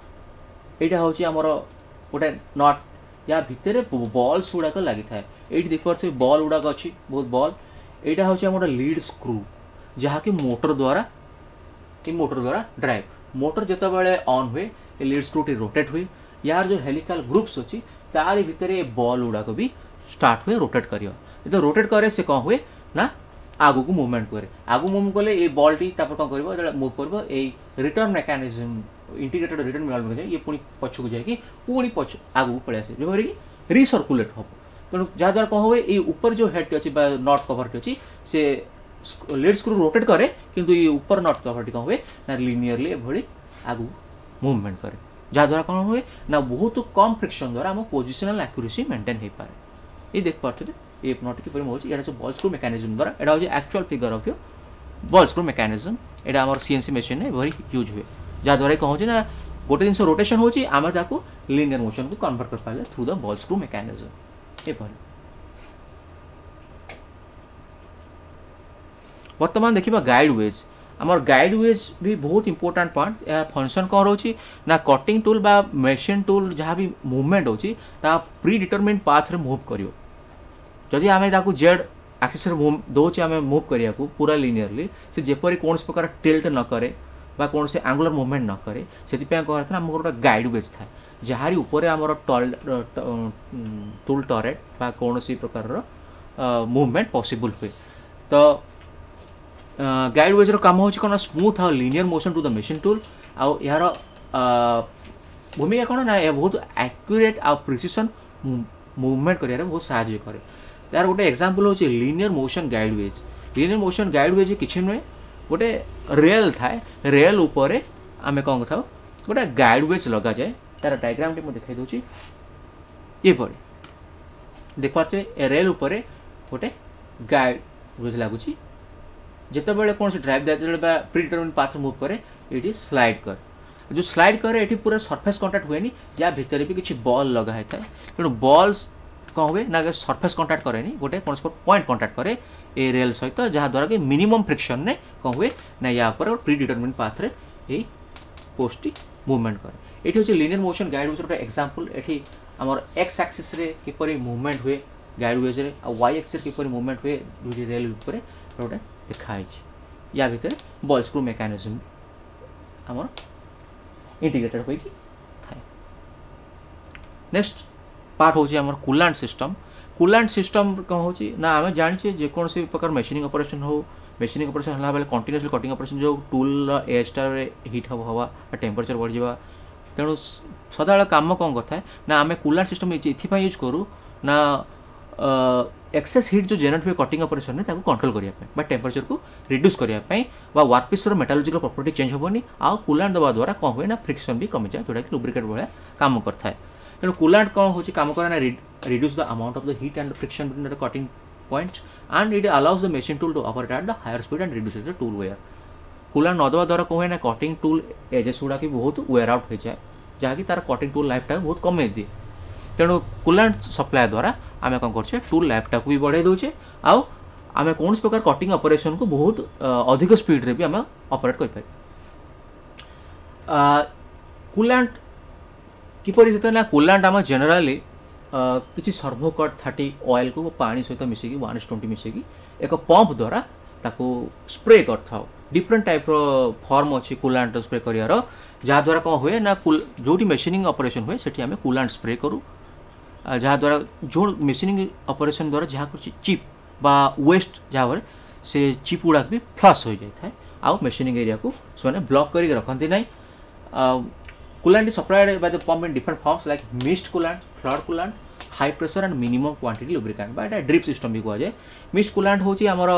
ଏଇଟା ହେଉଛି ଆମର ଗୋଟେ not, ୟା ଭିତରେ ବଲ୍ସ ଗୁଡ଼ାକ ଲାଗିଥାଏ। ଏଇଠି ଦେଖିପାରୁଥିବେ ବଲ୍ ଗୁଡ଼ାକ ଅଛି, ବହୁତ ବଲ୍। ଏଇଟା ହେଉଛି ଆମର ଲିଡ୍ ସ୍କ୍ରୁ, ଯାହାକି ମୋଟର ଦ୍ୱାରା, ଏଇ ମୋଟର ଦ୍ୱାରା ଡ୍ରାଇଭ୍। ମୋଟର ଯେତେବେଳେ ଅନ୍ ହୁଏ, ଏ ଲିଡ୍ ସ୍କ୍ରୁଟି ରୋଟେଟ୍ ହୁଏ। ୟାର ଯେଉଁ ହେଲିକାଲ ଗ୍ରୁପ୍ସ ଅଛି, ତାରି ଭିତରେ ଏ ବଲ୍ ଗୁଡ଼ାକ ବି ଷ୍ଟାର୍ଟ ହୁଏ ରୋଟେଟ୍ କରିବା। ଯେତେବେଳେ ରୋଟେଟ୍ କରେ, ସେ କ'ଣ ହୁଏ ନା ଆଗକୁ ମୁଭମେଣ୍ଟ କରେ। ଆଗକୁ ମୁଭ୍ କଲେ ଏଇ ବଲ୍ଟି ତାପରେ କ'ଣ କରିବ? ଯେତେବେଳେ ମୁଭ୍ କରିବ, ଏଇ return mechanism, integrated return mechanism, ଇଏ ପୁଣି ପଛକୁ ଯାଇକି ପୁଣି ପଛ ଆଗକୁ ପଳେଇ ଆସେ, ଯେପରିକି ରିସର୍କୁଲେଟ୍ ହେବ। ତେଣୁ ଯାହାଦ୍ୱାରା କ'ଣ ହୁଏ, ଏଇ ଉପରେ ଯେଉଁ ହେଡ଼୍ଟି ଅଛି ବା not କଭରଟି ଅଛି, ସେ ଲିଡ୍ ସ୍କ୍ରୁ ରୋଟେଟ୍ କରେ, କିନ୍ତୁ ଏଇ ଉପର not କଭରଟି କ'ଣ ହୁଏ ନା ଲିନିୟରଲି ଏଭଳି ଆଗକୁ ମୁଭମେଣ୍ଟ କରେ, ଯାହାଦ୍ୱାରା କ'ଣ ହୁଏ ନା ବହୁତ କମ୍ ଫ୍ରିକ୍ସନ୍ ଦ୍ୱାରା ଆମ ପୋଜିସନାଲ ଆକ୍ୟୁରେସି ମେଣ୍ଟେନ୍ ହେଇପାରେ। ଏଇ ଦେଖିପାରୁଥିବେ ଏ not କିପରି ହେଉଛି। ଏଇଟା ହେଉଛି ବଲ୍ ସ୍କ୍ରୁ ମେକାନିଜମ୍ ଦ୍ୱାରା, ଏଇଟା ହେଉଛି actual figure of your ball screw mechanism. ଏଇଟା ଆମର ସିଏନ୍ସି ମେସିନ୍ରେ ଏଭଳି ୟୁଜ୍ ହୁଏ, ଯାହାଦ୍ୱାରା କ'ଣ ହେଉଛି ନା ଗୋଟେ ଜିନିଷ ରୋଟେସନ୍ ହେଉଛି, ଆମେ ତାକୁ ଲିନିୟର ମୋସନକୁ କନଭର୍ଟ କରିପାରିଲେ through the ball screw mechanism ଏଭଳି। ବର୍ତ୍ତମାନ ଦେଖିବା ଗାଇଡ୍ ୱେଜ୍। ଆମର ଗାଇଡ୍ ୱେଜ୍ ବି ବହୁତ ଇମ୍ପୋର୍ଟାଣ୍ଟ ପଏଣ୍ଟ। ଏହା ଫଙ୍କସନ୍ କ'ଣ ରହୁଛି ନା କଟିଂ ଟୁଲ୍ ବା ମେସିନ୍ ଟୁଲ୍ ଯାହା ବି ମୁଭମେଣ୍ଟ ହେଉଛି, ତା ପ୍ରି ଡିଟରମିନ୍ ପାଥରେ ମୁଭ୍ କରିବ। ଯଦି ଆମେ ତାକୁ ଜେଡ୍ ଆକ୍ସିସ୍ରେ ମୁଭ୍ ଦେଉଛେ ଆମେ ମୁଭ୍ କରିବାକୁ ପୁରା ଲିନିୟରଲି, ସେ ଯେପରି କୌଣସି ପ୍ରକାର ଟିଲ୍ଟ ନ କରେ ବା କୌଣସି ଆଙ୍ଗୁଲାର ମୁଭମେଣ୍ଟ ନ କରେ, ସେଥିପାଇଁ କ'ଣ ହେଇଥାଏ, ଆମର ଗୋଟେ ଗାଇଡ୍ ୱେଜ୍ ଥାଏ, ଯାହାରି ଉପରେ ଆମର ଟୁଲ୍ ଟରେଟ୍ ବା କୌଣସି ପ୍ରକାରର ମୁଭମେଣ୍ଟ ପସିବୁଲ୍ ହୁଏ। ତ ଗାଇଡ୍ ୱେଜ୍ର କାମ ହେଉଛି କ'ଣ? ସ୍ମୁଥ୍ ଆଉ linear motion to the machine tool. ଆଉ ଏହାର ଭୂମିକା କ'ଣ ନା ଏହା ବହୁତ ଆକ୍ୟୁରେଟ୍ ଆଉ ପ୍ରିସିସନ୍ ମୁଭମେଣ୍ଟ କରିବାରେ ବହୁତ ସାହାଯ୍ୟ କରେ। ତାର ଗୋଟେ ଏକ୍ସାମ୍ପଲ୍ ହେଉଛି linear motion guide wedge. Linear motion guide wedge କିଛି ନୁହେଁ, ଗୋଟେ ରେଲ୍ ଥାଏ, ରେଲ୍ ଉପରେ ଆମେ କ'ଣ କରିଥାଉ, ଗୋଟେ ଗାଇଡ୍ ୱେଜ୍ ଲଗାଯାଏ। ତାର ଡାଇଗ୍ରାମଟି ମୁଁ ଦେଖାଇ ଦେଉଛି। ଏପରି ଦେଖିପାରୁଥିବେ, ଏ ରେଲ୍ ଉପରେ ଗୋଟେ ଗାଇଡ୍ ୱେଜ୍ ଲାଗୁଛି। ଯେତେବେଳେ କୌଣସି ଡ୍ରାଇଭ୍ ଯେତେବେଳେ ବା ପ୍ରି ଡିଟରମିନ୍ ପାଥ ମୁଭ୍ କରେ, ଏଇଠି ସ୍ଲାଇଡ୍ କରେ। ଯେଉଁ ସ୍ଲାଇଡ୍ କରେ, ଏଠି ପୁରା ସର୍ଫେସ୍ କଣ୍ଟାକ୍ଟ ହୁଏନି, ୟା ଭିତରେ ବି କିଛି ବଲ୍ ଲଗା ହେଇଥାଏ। ତେଣୁ ବଲ୍ କ'ଣ ହୁଏ ନା ସର୍ଫେସ୍ କଣ୍ଟାକ୍ଟ କରେନି, ଗୋଟେ କୌଣସି ପଏଣ୍ଟ କଣ୍ଟାକ୍ଟ କରେ ଏ ରେଲ୍ ସହିତ, ଯାହାଦ୍ୱାରା କି ମିନିମମ୍ ଫ୍ରିକ୍ସନ୍ରେ କ'ଣ ହୁଏ ନା ୟା ଉପରେ ପ୍ରି ଡିଟରମିନ୍ ପାଥରେ ଏଇ ପୋଷ୍ଟଟି ମୁଭମେଣ୍ଟ କରେ। ଏଇଠି ହେଉଛି ଲିନିୟର ମୋସନ୍ ଗାଇଡ୍ ୱେଜ୍ର ଗୋଟେ ଏକ୍ସାମ୍ପଲ୍। ଏଠି ଆମର ଏକ୍ସ ଆକ୍ସିସ୍ରେ କିପରି ମୁଭମେଣ୍ଟ ହୁଏ ଗାଇଡ୍ ୱେଜ୍ରେ, ଆଉ ୱାଇ ଆକ୍ସିସ୍ରେ କିପରି ମୁଭମେଣ୍ଟ ହୁଏ ଦୁଇଟି ରେଲ୍ ଉପରେ ଗୋଟେ ଦେଖା ହେଇଛି। ୟା ଭିତରେ ବଲ୍ ସ୍କ୍ରୁ ମେକାନିଜମ୍ ଆମର ଇଣ୍ଟିଗ୍ରେଟେଡ୍ ହୋଇକି ଥାଏ। ନେକ୍ସଟ ପାର୍ଟ ହେଉଛି ଆମର କୁଲାଣ୍ଟ ସିଷ୍ଟମ୍। କୁଲାଣ୍ଟ ସିଷ୍ଟମ୍ କ'ଣ ହେଉଛି ନା ଆମେ ଜାଣିଛେ ଯେକୌଣସି ପ୍ରକାର ମେସିନିଂ ଅପରେସନ୍ ହେଉ, ମେସିନିଂ ଅପରେସନ୍ ହେଲା ବେଳେ କଣ୍ଟିନ୍ୟୁଅସଲି କଟିଂ ଅପରେସନ୍ ଯେଉଁ ଟୁଲ୍ର ଏଜ୍ଟାରେ ହିଟ୍ ହେବ ହେବା ବା ଟେମ୍ପରେଚର୍ ବଢ଼ିଯିବା। ତେଣୁ ସଦାବେଳେ କାମ କ'ଣ କରିଥାଏ ନା ଆମେ କୁଲାଣ୍ଟ ସିଷ୍ଟମ୍ ଏଥିପାଇଁ ୟୁଜ୍ କରୁ ନା ଏକ୍ସେସ୍ ହିଟ୍ ଯେଉଁ ଜେନେରେଟ୍ ହୁଏ କଟିଂ ଅପରେସନ୍ରେ, ତାକୁ କଣ୍ଟ୍ରୋଲ୍ କରିବା ପାଇଁ ବା ଟେମ୍ପରେଚର୍କୁ ରିଡ୍ୟୁସ୍ କରିବା ପାଇଁ, ବା ୱାର୍କପିସ୍ର ମେଟାଲୋଜିକାଲ ପ୍ରପର୍ଟି ଚେଞ୍ଜ ହେବନି। ଆଉ କୁଲାଣ୍ଟ ଦେବା ଦ୍ୱାରା କ'ଣ ହୁଏ ନା ଫ୍ରିକ୍ସନ୍ ବି କମିଯାଏ, ଯେଉଁଟାକି ଲୁବ୍ରିକେଟ୍ ଭଳିଆ କାମ କରିଥାଏ। ତେଣୁ କୁଲାଣ୍ଟ କ'ଣ ହେଉଛି କାମ କରେ ନା reduce the amount of the heat and friction between the cutting points, and it allows the machine tool to operate at the higher speed and reduces the tool wear. Coolant ନ ଦେବା ଦ୍ୱାରା କ'ଣ ହୁଏ ନା କଟିଂ ଟୁଲ୍ ଏଜେସ୍ ଗୁଡ଼ାକ ବହୁତ ware out ହୋଇଯାଏ, ଯାହାକି ତାର କଟିଂ ଟୁଲ୍ ଲାଇଫ୍ଟାକୁ ବହୁତ କମେଇ ଦିଏ। ତେଣୁ କୁଲାଣ୍ଟ ସପ୍ଲାଏ ଦ୍ୱାରା ଆମେ କ'ଣ କରୁଛେ, ଟୁଲ୍ ଲାଇଫ୍ଟାକୁ ବି ବଢ଼େଇ ଦେଉଛେ, ଆଉ ଆମେ କୌଣସି ପ୍ରକାର କଟିଂ ଅପରେସନ୍କୁ ବହୁତ ଅଧିକ ସ୍ପିଡ଼ରେ ବି ଆମେ ଅପରେଟ୍ କରିପାରିବା। କୁଲାଣ୍ଟ କିପରି ଯେତେବେଳେ ନା କୁଲାଣ୍ଟ ଆମେ ଜେନେରାଲି କିଛି ସର୍ଭୋକଟ୍ 30 ଅଏଲ୍କୁ ପାଣି ସହିତ ମିଶେଇକି 1:20 ମିଶେଇକି ଏକ ପମ୍ପ ଦ୍ୱାରା ତାକୁ ସ୍ପ୍ରେ କରିଥାଉ। ଡିଫରେଣ୍ଟ ଟାଇପ୍ର ଫର୍ମ ଅଛି କୁଲାଣ୍ଟ ସ୍ପ୍ରେ କରିବାର, ଯାହାଦ୍ୱାରା କ'ଣ ହୁଏ ନା ଯେଉଁଠି ମେସିନିଂ ଅପରେସନ୍ ହୁଏ ସେଠି ଆମେ କୁଲାଣ୍ଟ ସ୍ପ୍ରେ କରୁ, ଯାହାଦ୍ୱାରା ଯେଉଁ ମେସିନିଂ ଅପରେସନ୍ ଦ୍ୱାରା ଯାହା କରୁଛି ଚିପ୍ ବା ୱେଷ୍ଟ ଯାହା ସେ ଚିପ୍ ଗୁଡ଼ାକ ବି ଫ୍ଲସ୍ ହୋଇଯାଇଥାଏ ଆଉ ମେସିନିଂ ଏରିଆକୁ ସେମାନେ ବ୍ଲକ୍ କରିକି ରଖନ୍ତି ନାହିଁ। Coolant is supplied by the pump in different forms like mist coolant, flood coolant, high pressure and minimum quantity lubricant ବା ଏଇଟା ଡ୍ରିପ୍ ସିଷ୍ଟମ୍ ବି କୁହାଯାଏ। ମିଷ୍ଟ କୁଲାଣ୍ଟ ହେଉଛି ଆମର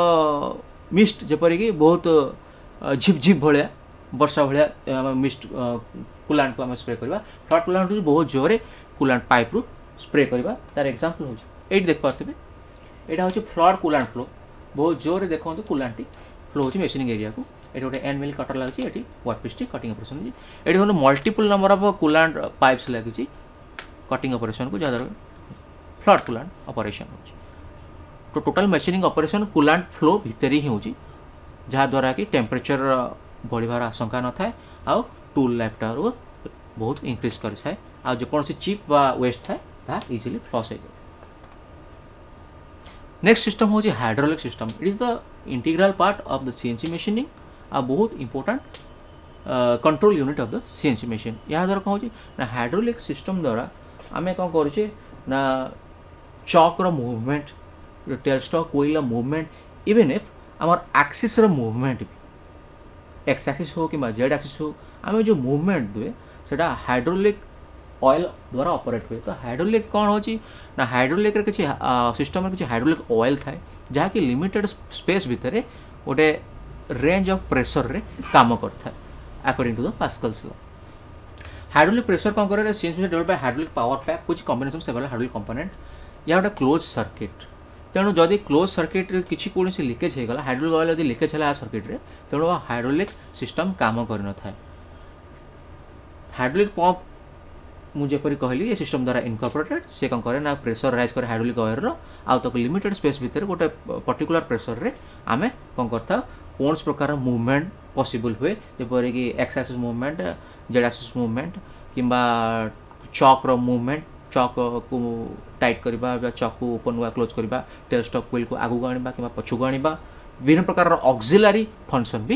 ମିଷ୍ଟ, ଯେପରିକି ବହୁତ ଝିପ୍ ଝିପ୍ ଭଳିଆ ବର୍ଷା ଭଳିଆ ମିଷ୍ଟ କୁଲାଣ୍ଟକୁ ଆମେ ସ୍ପ୍ରେ କରିବା। ଫ୍ଲଡ୍ କୁଲାଣ୍ଟ ହେଉଛି ବହୁତ ଜୋରରେ କୁଲାଣ୍ଟ ପାଇପ୍ରୁ ସ୍ପ୍ରେ କରିବା। ତାର ଏକ୍ଜାମ୍ପଲ୍ ହେଉଛି ଏଇଠି ଦେଖିପାରୁଥିବେ, ଏଇଟା ହେଉଛି ଫ୍ଲଡ୍ କୁଲାଣ୍ଟ ଫ୍ଲୋ। ବହୁତ ଜୋରରେ ଦେଖନ୍ତୁ କୁଲାଣ୍ଟଟି ଫ୍ଲୋ ହେଉଛି ମେସିନିଂ ଏରିଆକୁ। ଏଠି ଗୋଟେ ଏଣ୍ଡ ମିଲ୍ କଟର ଲାଗୁଛି, ଏଠି ୱାର୍କ ପିସ୍ଟି କଟିଂ ଅପରେସନ୍ ହେଉଛି। ଏଠି ଦେଖନ୍ତୁ multiple number of coolant pipes ଲାଗିଛି କଟିଂ ଅପରେସନ୍କୁ, ଯାହାଦ୍ୱାରା ଫ୍ଲଡ୍ କୁଲାଣ୍ଟ ଅପରେସନ୍ ହେଉଛି। ତ total machining operation coolant flow ଭିତରେ ହିଁ ହେଉଛି, ଯାହାଦ୍ୱାରା କି ଟେମ୍ପରେଚର ବଢ଼ିବାର ଆଶଙ୍କା ନଥାଏ ଆଉ ଟୁଲ୍ ଲାଇଫ୍ଟାରୁ ବହୁତ ଇନକ୍ରିଜ୍ କରିଥାଏ, ଆଉ ଯେକୌଣସି ଚିପ୍ ବା ୱେଷ୍ଟ ଥାଏ ତାହା ଇଜିଲି ଫ୍ଲସ୍ ହେଇଯାଏ। ନେକ୍ସଟ ସିଷ୍ଟମ୍ ହେଉଛି hydraulic system. It is the integral part of the CNC machining ଆଉ ବହୁତ important control unit of the CNC machine. ଏହାଦ୍ୱାରା କ'ଣ ହେଉଛି ନା ହାଇଡ୍ରୋଲିକ୍ ସିଷ୍ଟମ୍ ଦ୍ୱାରା ଆମେ କ'ଣ କରୁଛେ ନା ଚକ୍ର ମୁଭମେଣ୍ଟ, ଟେଲ୍ ଷ୍ଟକ୍ ହୁଇଲ୍ର ମୁଭମେଣ୍ଟ, ଇଭେନ୍ if ଆମର ଆକ୍ସିସ୍ର ମୁଭମେଣ୍ଟ ବି, ଏକ୍ସ ଆକ୍ସିସ୍ ହଉ କିମ୍ବା ଜେଡ୍ ଆକ୍ସିସ୍ ହଉ, ଆମେ ଯେଉଁ ମୁଭମେଣ୍ଟ ଦୁଏ ସେଇଟା ହାଇଡ୍ରୋଲିକ୍ ଅଏଲ୍ ଦ୍ୱାରା ଅପରେଟ୍ ହୁଏ। ତ ହାଇଡ୍ରୋଲିକ୍ କ'ଣ ହେଉଛି ନା ହାଇଡ୍ରୋଲିକ୍ରେ କିଛି ସିଷ୍ଟମ୍ରେ କିଛି ହାଇଡ୍ରୋଲିକ୍ ଅଏଲ୍ ଥାଏ ଯାହାକି ଲିମିଟେଡ୍ ସ୍ପେସ୍ ଭିତରେ ଗୋଟେ ରେଞ୍ଜ ଅଫ୍ ପ୍ରେସରରେ କାମ କରିଥାଏ according to the Pascal's law. Hydraulic pressure କ'ଣ କରେ? CNC develop by hydraulic power pack which combination several hydraulic component. ଏହା ଗୋଟେ କ୍ଲୋଜ୍ ସର୍କିଟ୍, ତେଣୁ ଯଦି କ୍ଲୋଜ୍ ସର୍କିଟ୍ରେ କିଛି କୌଣସି ଲିକେଜ୍ ହେଇଗଲା, ହାଇଡ୍ରୋଲିକ୍ ଅଏଲ୍ ଯଦି ଲିକେଜ୍ ହେଲା ସର୍କିଟ୍ରେ, ତେଣୁ ହାଇଡ୍ରୋଲିକ୍ ସିଷ୍ଟମ୍ କାମ କରିନଥାଏ। ହାଇଡ୍ରୋଲିକ୍ ପମ୍ପ ମୁଁ ଯେପରି କହିଲି ଏ ସିଷ୍ଟମ୍ ଦ୍ୱାରା ଇନକର୍ପୋରେଟେଡ୍, ସେ କ'ଣ କରେ ନା ପ୍ରେସର ରାଇଜ୍ କରେ ହାଇଡ୍ରୋଲିକ୍ ଅଏଲ୍ର, ଆଉ ତାକୁ ଲିମିଟେଡ୍ ସ୍ପେସ୍ ଭିତରେ ଗୋଟେ ପର୍ଟିକୁଲାର ପ୍ରେସରରେ ଆମେ କ'ଣ କରିଥାଉ କୌଣସି ପ୍ରକାର ମୁଭମେଣ୍ଟ ପସିବୁଲ୍ ହୁଏ, ଯେପରିକି X axis movement, Z axis movement କିମ୍ବା ଚକ୍ର ମୁଭମେଣ୍ଟ, ଚକ୍କୁ ଟାଇଟ୍ କରିବା ବା ଚକ୍କୁ ଓପନ୍ ବା କ୍ଲୋଜ୍ କରିବା, ଟେଲ୍ ଷ୍ଟକ୍ ହୁଇଲ୍କୁ ଆଗକୁ ଆଣିବା କିମ୍ବା ପଛକୁ ଆଣିବା, ବିଭିନ୍ନ ପ୍ରକାରର ଅକ୍ସିଲାରୀ ଫଙ୍କସନ୍ ବି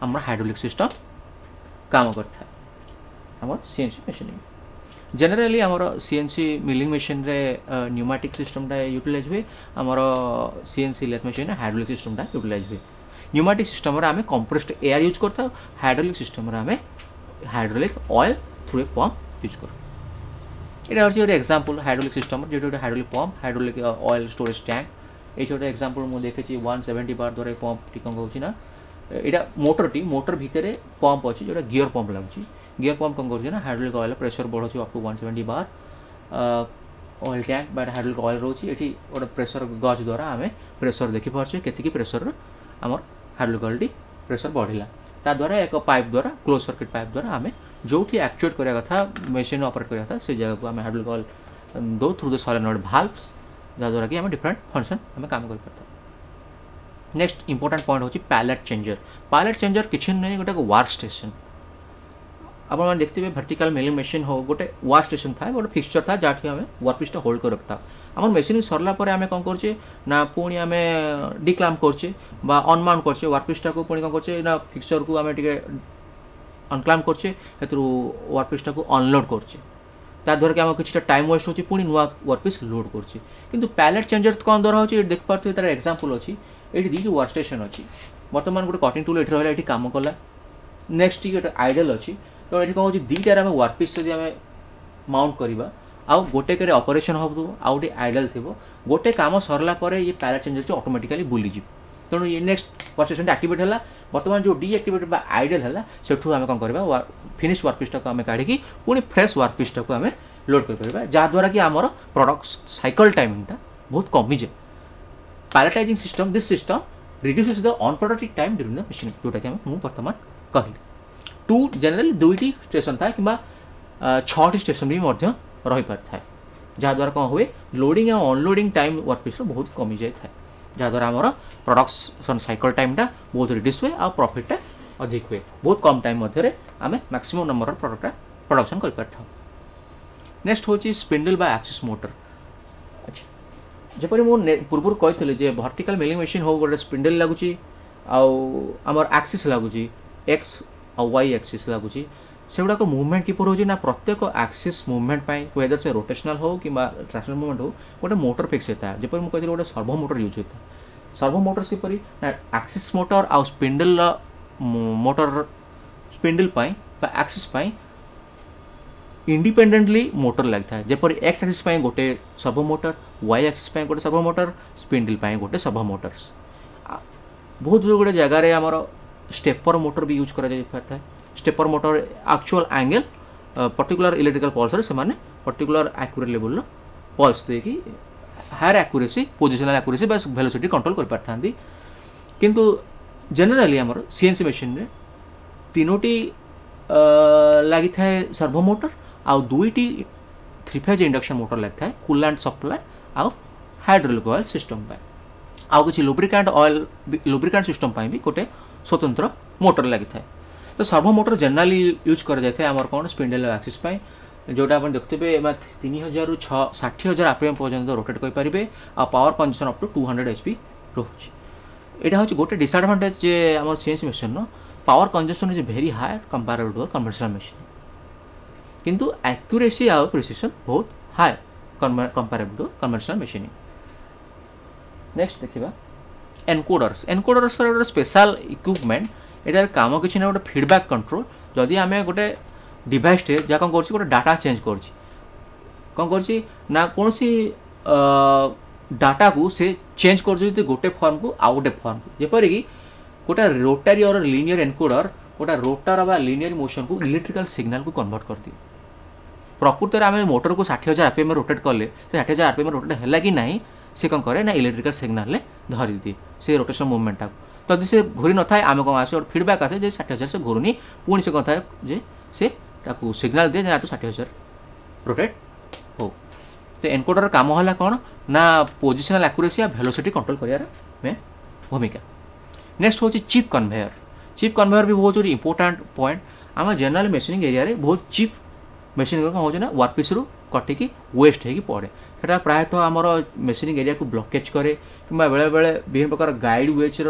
ଆମର ହାଇଡ୍ରୋଲିକ୍ ସିଷ୍ଟମ୍ କାମ କରିଥାଏ ଆମର ସିଏନ୍ସି ମେସିନିଂ। ଜେନେରାଲି ଆମର ସିଏନ୍ସି ମିଲିଂ ମେସିନ୍ରେ ନ୍ୟୁମାଟିକ୍ ସିଷ୍ଟମ୍ଟା ୟୁଟିଲାଇଜ୍ ହୁଏ, ଆମର ସିଏନ୍ସି ଲେଥ୍ ମେସିନ୍ରେ ହାଇଡ୍ରୋଲିକ୍ ସିଷ୍ଟମ୍ଟା ୟୁଟିଲାଇଜ୍ ହୁଏ। ନ୍ୟୁମାଟିକ୍ ସିଷ୍ଟମ୍ରେ ଆମେ କମ୍ପ୍ରେସ୍ଡ ଏୟାର ୟୁଜ୍ କରିଥାଉ, ହାଇଡ୍ରୋଲିକ୍ ସିଷ୍ଟମ୍ରେ ଆମେ hydraulic oil through a pump use କରୁ। ଏଇଟା ହେଉଛି ଗୋଟେ ଏକ୍ଜାମ୍ପଲ୍ ହାଇଡ୍ରୋଲିକ୍ ସିଷ୍ଟମ୍ର, ଯେଉଁଠି ଗୋଟେ hydraulic pump, hydraulic oil storage tank. ଏଇଠି ଗୋଟେ ଏକ୍ଜାମ୍ପଲ୍ ମୁଁ ଦେଖିଛି 170 ବାର ଦ୍ୱାରା ଏ ପମ୍ପଟି କ'ଣ କରୁଛି ନା ଏଇଟା ମୋଟରଟି, ମୋଟର ଭିତରେ ପମ୍ପ ଅଛି ଯେଉଁଟା ଗିୟର ପମ୍ପ ଲାଗୁଛି। ଗିୟର ପମ୍ପ କ'ଣ କରୁଛି ନା ହାଇଡ୍ରୋଲିକ୍ ଅଏଲ୍ ପ୍ରେସର ବଢ଼ଉଛି up to 170 bar. Oil tank ବା ହାଇଡ୍ରୋଲିକ୍ ଅଏଲ୍ ରହୁଛି, ଏଠି ଗୋଟେ ପ୍ରେସର ଗଜ୍ ଦ୍ୱାରା ଆମେ ପ୍ରେସର ଦେଖିପାରୁଛେ କେତିକି ପ୍ରେସର ଆମର ହାଇଡ୍ରୋଲିକ୍ ଅଏଲ୍ଟି ପ୍ରେସର ବଢ଼ିଲା। ତା ଦ୍ୱାରା ଏକ ପାଇପ୍ ଦ୍ୱାରା, କ୍ଲୋଜ୍ ସର୍କିଟ୍ ପାଇପ୍ ଦ୍ୱାରା ଆମେ ଯେଉଁଠି ଆକ୍ଚୁଏଟ୍ କରିବା କଥା, ମେସିନ୍ ଅପରେଟ୍ କରିବା କଥା, ସେ ଜାଗାକୁ ଆମେ ହାଇଡ୍ରୋଲିକ୍ ଅଏଲ୍ ଦେଉ ଥ୍ରୁ ଦ ସଲେନଏଡ୍ ଭାଲ୍ଭସ୍, ଯାହାଦ୍ୱାରା କି ଆମେ ଡିଫରେଣ୍ଟ ଫଙ୍କସନ୍ ଆମେ କାମ କରିପାରିଥାଉ। ନେକ୍ସଟ ଇମ୍ପୋର୍ଟାଣ୍ଟ ପଏଣ୍ଟ ହେଉଛି ପ୍ୟାଲେଟ୍ ଚେଞ୍ଜର। ପ୍ୟାଲେଟ୍ ଚେଞ୍ଜର କିଛି ନୁହେଁ, ଗୋଟେ ୱାର୍କ ଷ୍ଟେସନ୍। ଆପଣମାନେ ଦେଖିଥିବେ ଭର୍ଟିକାଲ ମିଲିଂ ମେସିନ୍ ହଉ, ଗୋଟେ ୱାର୍କ ଷ୍ଟେସନ୍ ଥାଏ, ଗୋଟେ ଫିକ୍ସଚର୍ ଥାଏ ଯାହାଠି ଆମେ ୱାର୍କ ପିସ୍ଟା ହୋଲ୍ଡ କରି ରଖିଥାଉ। ଆମର ମେସିନ୍ ସରିଲା ପରେ ଆମେ କ'ଣ କରୁଛେ ନା ପୁଣି ଆମେ ଡିକ୍ଲାମ୍ପ କରୁଛେ ବା ଅନମାଉଣ୍ଟ କରୁଛେ ୱାର୍କ ପିସ୍ଟାକୁ, ପୁଣି କ'ଣ କରୁଛେ ନା ଫିକ୍ସଚର୍କୁ ଆମେ ଟିକେ ଅନକ୍ଲାମ୍ପ କରୁଛେ, ସେଥିରୁ ୱାର୍କ ପିସ୍ଟାକୁ ଅନଲୋଡ଼ କରୁଛେ, ତାଦ୍ୱାରା କି ଆମର କିଛିଟା ଟାଇମ୍ ୱେଷ୍ଟ ହେଉଛି, ପୁଣି ନୂଆ ୱାର୍କ ପିସ୍ ଲୋଡ଼ କରୁଛେ। କିନ୍ତୁ ପ୍ୟାଲେଟ୍ ଚେଞ୍ଜର କ'ଣ ଦ୍ୱାରା ହେଉଛି ଏଠି ଦେଖିପାରୁଥିବେ, ତାର ଏକ୍ଜାମ୍ପଲ୍ ଅଛି। ଏଇଠି ଦୁଇଟି ୱାର୍କ ଷ୍ଟେସନ୍ ଅଛି, ବର୍ତ୍ତମାନ ଗୋଟେ କଟିଂ ଟୁଲ୍ ଏଠି ରହିଲା, ଏଠି କାମ କଲା, ନେକ୍ସଟ ଟିକେ ଗୋଟେ ଆଇଡଲ୍ ଅଛି। ତେଣୁ ଏଠି କ'ଣ ହେଉଛି, ଦୁଇଟାରେ ଆମେ ୱାର୍କ ପିସ୍ ଯଦି ଆମେ ମାଉଣ୍ଟ କରିବା, ଆଉ ଗୋଟେକରେ ଅପରେସନ୍ ହେଉଥିବ, ଆଉ ଗୋଟେ ଆଇଡଲ୍ ଥିବ, ଗୋଟେ କାମ ସରିଲା ପରେ ଇଏ ପ୍ୟାଲେଟ୍ ଚେଞ୍ଜରଟି ଅଟୋମେଟିକାଲି ବୁଲିଯିବ। ତେଣୁ ଇଏ ନେକ୍ସଟ ୱାର୍କ ଷ୍ଟେସନଟି ଆକ୍ଟିଭେଟ୍ ହେଲା। ବର୍ତ୍ତମାନ ଯେଉଁ ଡିଆକ୍ଟିଭେଟ୍ ବା ଆଇଡଲ୍ ହେଲା, ସେଠୁ ଆମେ କ'ଣ କରିବା, ଫିନିଶ୍ ୱାର୍କ ପିସ୍ଟାକୁ ଆମେ କାଢ଼ିକି ପୁଣି ଫ୍ରେଶ୍ ୱାର୍କ ପିସ୍ଟାକୁ ଆମେ ଲୋଡ଼ କରିପାରିବା, ଯାହାଦ୍ୱାରା କି ଆମର ପ୍ରଡ଼କ୍ଟ ସାଇକଲ୍ ଟାଇମିଂଟା ବହୁତ କମିଯାଏ। Palletizing system, this system reduces the unproductive time during the machine, ଯେଉଁଟାକି ଆମେ ମୁଁ ବର୍ତ୍ତମାନ କହିଲି। ଟୁ ଜେନେରାଲି 2ଟି ଷ୍ଟେସନ୍ ଥାଏ କିମ୍ବା 6ଟି ଷ୍ଟେସନ୍ ବି ମଧ୍ୟ ରହିପାରିଥାଏ, ଯାହାଦ୍ୱାରା କ'ଣ ହୁଏ, ଲୋଡ଼ିଂ ଆଉ ଅନଲୋଡ଼ିଂ ଟାଇମ୍ ୱାର୍କ ପିସ୍ର ବହୁତ କମିଯାଇଥାଏ, ଯାହାଦ୍ୱାରା ଆମର ପ୍ରଡକ୍ସନ୍ ସାଇକଲ୍ ଟାଇମ୍ଟା ବହୁତ ରିଡ୍ୟୁସ୍ ହୁଏ ଆଉ ପ୍ରଫିଟ୍ଟା ଅଧିକ ହୁଏ। ବହୁତ କମ୍ ଟାଇମ୍ ମଧ୍ୟରେ ଆମେ ମ୍ୟାକ୍ସିମମ୍ ନମ୍ବରର ପ୍ରଡ଼କ୍ଟଟା ପ୍ରଡକ୍ସନ୍ କରିପାରିଥାଉ। ନେକ୍ସଟ ହେଉଛି ସ୍ପିଣ୍ଡଲ୍ ବା ଆକ୍ସିସ୍ ମୋଟର। ଯେପରି ମୁଁ ପୂର୍ବରୁ କହିଥିଲି ଯେ ଭର୍ଟିକାଲ ମିଲିଂ ମେସିନ୍ ହଉ, ଗୋଟେ ସ୍ପିଣ୍ଡେଲ୍ ଲାଗୁଛି ଆଉ ଆମର ଆକ୍ସିସ୍ ଲାଗୁଛି, ଏକ୍ସ ଆଉ ୱାଇ ଆକ୍ସିସ୍ ଲାଗୁଛି। ସେଗୁଡ଼ାକ ମୁଭମେଣ୍ଟ କିପରି ହେଉଛି ନା ପ୍ରତ୍ୟେକ ଆକ୍ସିସ୍ ମୁଭମେଣ୍ଟ ପାଇଁ, ୱେଦର ସେ ରୋଟେସନାଲ୍ ହଉ କିମ୍ବା ଟ୍ରାନ୍ସଲେସନାଲ୍ ମୁଭମେଣ୍ଟ ହଉ, ଗୋଟେ ମୋଟର ଫିକ୍ସ ହୋଇଥାଏ। ଯେପରି ମୁଁ କହିଥିଲି, ଗୋଟେ ସର୍ଭୋ ମୋଟର ୟୁଜ୍ ହୋଇଥାଏ। ସର୍ଭୋ ମୋଟର୍ସ କିପରି ନା ଆକ୍ସିସ୍ ମୋଟର ଆଉ ସ୍ପିଣ୍ଡେଲର ମୋଟର, ସ୍ପିଣ୍ଡେଲ୍ ପାଇଁ ବା ଆକ୍ସିସ୍ ପାଇଁ ଇଣ୍ଡିପେଣ୍ଡେଣ୍ଟଲି ମୋଟର ଲାଗିଥାଏ। ଯେପରି ଏକ୍ସ ଆକ୍ସିସ୍ ପାଇଁ ଗୋଟେ ସର୍ଭୋ ମୋଟର, ୱାଇ ଆକ୍ସିସ୍ ପାଇଁ ଗୋଟେ ସର୍ଭୋ ମୋଟର, ସ୍ପିଣ୍ଡେଲ୍ ପାଇଁ ଗୋଟେ ସର୍ଭୋ ମୋଟର୍ସ। ବହୁତ ଗୁଡ଼ିଏ ଜାଗାରେ ଆମର ଷ୍ଟେପର ମୋଟର ବି ୟୁଜ୍ କରାଯାଇପାରିଥାଏ। Stepper motor actual angle particular electrical ପଲ୍ସରେ ସେମାନେ ପର୍ଟିକୁଲାର ଆକ୍ୟୁରେଟ୍ ଲେଭେଲର ପଲ୍ସ ଦେଇକି ହାୟର ଆକ୍ୟୁରେସି, ପୋଜିସନାଲ ଆକ୍ୟୁରେସି ବା ଭେଲୋସିଟି କଣ୍ଟ୍ରୋଲ କରିପାରିଥାନ୍ତି। କିନ୍ତୁ ଜେନେରାଲି ଆମର ସିଏନ୍ସି ମେସିନ୍ରେ ତିନୋଟି ଲାଗିଥାଏ ସର୍ଭୋ ମୋଟର ଆଉ ଦୁଇଟି ଥ୍ରୀ ଫେଜ୍ ଇଣ୍ଡକ୍ସନ୍ ମୋଟର ଲାଗିଥାଏ, କୁଲାଣ୍ଟ ସପ୍ଲାଏ ଆଉ ହାଇଡ୍ରୋଲିକ୍ ଅଏଲ୍ ସିଷ୍ଟମ୍ ପାଇଁ। ଆଉ କିଛି ଲୁବ୍ରିକାଣ୍ଟ ଅଏଲ୍, ଲୁବ୍ରିକାଣ୍ଟ ସିଷ୍ଟମ୍ ପାଇଁ ବି ଗୋଟେ ସ୍ୱତନ୍ତ୍ର ମୋଟର ଲାଗିଥାଏ। ତ ସର୍ଭୋ ମୋଟର ଜେନେରାଲି ୟୁଜ୍ କରାଯାଇଥାଏ ଆମର କ'ଣ ସ୍ପିଣ୍ଡେଲ୍ ଆକ୍ସିସ୍ ପାଇଁ, ଯେଉଁଟା ଆପଣ ଦେଖୁଥିବେ 3000ରୁ 60,000 ଆରପିଏମ୍ ପର୍ଯ୍ୟନ୍ତ ରୋଟେଟ୍ କରିପାରିବେ ଆଉ power consumption up to 200 HP ରହୁଛି। ଏଇଟା ହେଉଛି ଗୋଟେ ଡିସଆଡ଼ଭାଣ୍ଟେଜ୍ ଯେ ଆମର ସିଏନ୍ସି ମେସିନ୍ର power consumption is very high comparable to conventional machine, କିନ୍ତୁ ଆକ୍ୟୁରେସି ଆଉ ପ୍ରିସିସନ୍ ବହୁତ high comparable to conventional machine. Next ଦେଖିବା ଏନକୋଡର୍ସ। ଏନକୋଡର୍ସର ଗୋଟେ ସ୍ପେଶାଲ ଇକ୍ୱିପମେଣ୍ଟ। ଏଟାର କାମ କିଛି ନା ଗୋଟେ ଫିଡ଼ବ୍ୟାକ୍ କଣ୍ଟ୍ରୋଲ। ଯଦି ଆମେ ଗୋଟେ ଡିଭାଇସ୍ଟେ ଯାହା କ'ଣ କରୁଛି, ଗୋଟେ ଡାଟା ଚେଞ୍ଜ କରୁଛି, କ'ଣ କରୁଛି ନା କୌଣସି ଡାଟାକୁ ସେ ଚେଞ୍ଜ କରୁଛି ଯଦି ଗୋଟେ ଫର୍ମକୁ ଆଉ ଗୋଟେ ଫର୍ମକୁ। ଯେପରିକି ଗୋଟେ ରୋଟାରୀ ଅର ଲିନିୟର ଏନକୋଡର ଗୋଟେ ରୋଟାର ବା ଲିନିୟର ମୋସନକୁ ଇଲେକ୍ଟ୍ରିକାଲ ସିଗ୍ନାଲକୁ କନଭର୍ଟ କରିଦିଏ। ପ୍ରକୃତରେ ଆମେ ମୋଟରକୁ 60,000 ଆରପିଏମ୍ ରୋଟେଟ୍ କଲେ ସେ 60,000 ଆରପିଏମ୍ ରୋଟେଟ୍ ହେଲା କି ନାହିଁ, ସେ କ'ଣ କରେ ନା ଇଲେକ୍ଟ୍ରିକାଲ ସିଗ୍ନାଲରେ ଧରିଦିଏ ସେ ରୋଟେସନ୍ ମୁଭମେଣ୍ଟଟାକୁ। ଯଦି ସେ ଘୁରି ନଥାଏ, ଆମେ କ'ଣ ଆସେ, ଗୋଟେ ଫିଡ଼ବ୍ୟାକ୍ ଆସେ ଯେ 60,000 ସେ ଘୁରୁନି। ପୁଣି ସେ କ'ଣ ଥାଏ ଯେ ସେ ତାକୁ ସିଗ୍ନାଲ ଦିଏ ଯେ ନା, ତୁ 60,000 ରୋଟେଟ୍ ହଉ। ତ ଏନକୋଡର କାମ ହେଲା କ'ଣ ନା ପୋଜିସନାଲ ଆକ୍ୟୁରେସି ଆଉ ଭେଲୋସିଟି କଣ୍ଟ୍ରୋଲ କରିବାର ମେନ୍ ଭୂମିକା। ନେକ୍ସଟ ହେଉଛି ଚିପ୍ କନଭେୟର। ଚିପ୍ କନଭେୟର ବି ବହୁତ ଗୋଟେ ଇମ୍ପୋର୍ଟାଣ୍ଟ ପଏଣ୍ଟ। ଆମ ଜେନେରାଲ ମେସିନିଂ ଏରିଆରେ ବହୁତ ଚିପ୍ ମେସିନ୍ କ'ଣ ହେଉଛି ନା ୱାର୍କ ପିସ୍ରୁ କଟିକି ୱେଷ୍ଟ ହେଇକି ପଡ଼େ। ସେଟା ପ୍ରାୟତଃ ଆମର ମେସିନିଂ ଏରିଆକୁ ବ୍ଲକେଜ୍ କରେ କିମ୍ବା ବେଳେବେଳେ ବିଭିନ୍ନ ପ୍ରକାର ଗାଇଡ଼ ୱେଜ୍ର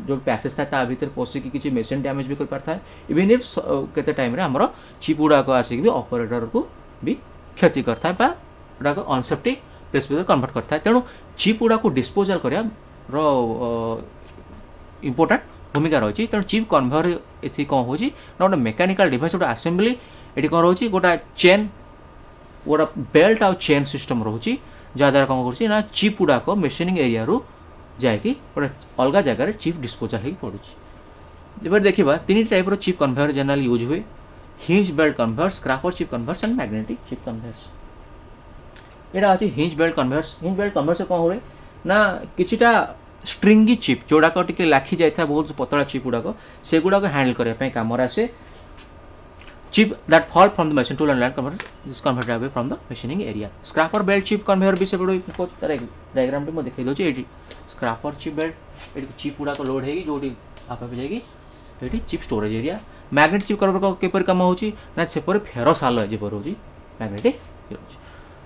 ଯେଉଁ ପ୍ୟାସେଜ୍ ଥାଏ ତା ଭିତରେ ପଶିକି କିଛି ମେସିନ୍ ଡ୍ୟାମେଜ୍ ବି କରିପାରିଥାଏ। ଇଭିନ୍ if କେତେ ଟାଇମ୍ରେ ଆମର ଚିପ୍ ଗୁଡ଼ାକ ଆସିକି ବି ଅପରେଟରକୁ ବି କ୍ଷତି କରିଥାଏ ବା ଗୁଡ଼ାକ ଅନସେଫ୍ଟି ପ୍ଲେସ୍ ଭିତରେ କନଭର୍ଟ କରିଥାଏ। ତେଣୁ ଚିପ୍ ଗୁଡ଼ାକୁ ଡିସ୍ପୋଜାଲ୍ କରିବାର ଇମ୍ପୋର୍ଟାଣ୍ଟ ଭୂମିକା ରହିଛି। ତେଣୁ ଚିପ୍ କନଭେୟର ଏଠି କ'ଣ ହେଉଛି ନା ଗୋଟେ ମେକାନିକାଲ ଡିଭାଇସ୍, ଗୋଟେ ଆସେମ୍ବଲି। ଏଠି କ'ଣ ରହୁଛି? ଗୋଟେ ଚେନ୍, ଗୋଟେ ବେଲ୍ଟ ଆଉ ଚେନ୍ ସିଷ୍ଟମ୍ ରହୁଛି, ଯାହାଦ୍ୱାରା କ'ଣ କରୁଛି ନା ଚିପ୍ ଗୁଡ଼ାକ ମେସିନିଂ ଏରିଆରୁ ଯାଇକି ଗୋଟେ ଅଲଗା ଜାଗାରେ ଚିପ୍ ଡିସ୍ପୋଜାଲ୍ ହେଇକି ପଡ଼ୁଛି। ଯେପରି ଦେଖିବା, ତିନି ଟାଇପ୍ର ଚିପ୍ କନଭେୟର ଜେନେରାଲି ୟୁଜ୍ ହୁଏ: hinge belt conveyor, scraper chip conveyors and magnetic chip conveyors. ଏଇଟା ଅଛି hinge belt conveyors. Hinge belt conveyors କ'ଣ ହୁଏ ନା କିଛିଟା ଷ୍ଟ୍ରିଙ୍ଗି ଚିପ୍ ଯେଉଁଗୁଡ଼ାକ ଟିକେ ଲାଖି ଯାଇଥାଏ, ବହୁତ ପତଳା ଚିପ୍ ଗୁଡ଼ାକ, ସେଗୁଡ଼ାକ ହ୍ୟାଣ୍ଡେଲ୍ କରିବା ପାଇଁ କାମରେ ଆସେ। Chip that fall from the machine tool and land converter is converted away from the machining area. Scraper belt chip conveyor ବି ସେପଟୁ ତାର ଡାଇଗ୍ରାମଟି ମୁଁ ଦେଖେଇ ଦେଉଛି। ଏଇଠି ସ୍କ୍ରାପର ଚିପ୍ ବେଲ୍ଟ, ଏଠି ଚିପ୍ ଗୁଡ଼ାକ ଲୋଡ୍ ହେଇକି ଯେଉଁଠି ଆପେ ଆପେ ଯାଇକି ଏଠି chip storage area. Magnet chip conveyor କିପରି କାମ ହେଉଛି ନା ସେପରି ଫେରସ୍ ଆଲୟ ଯେପରି ରହୁଛି, ମ୍ୟାଗ୍ନେଟିକ୍ ରହୁଛି।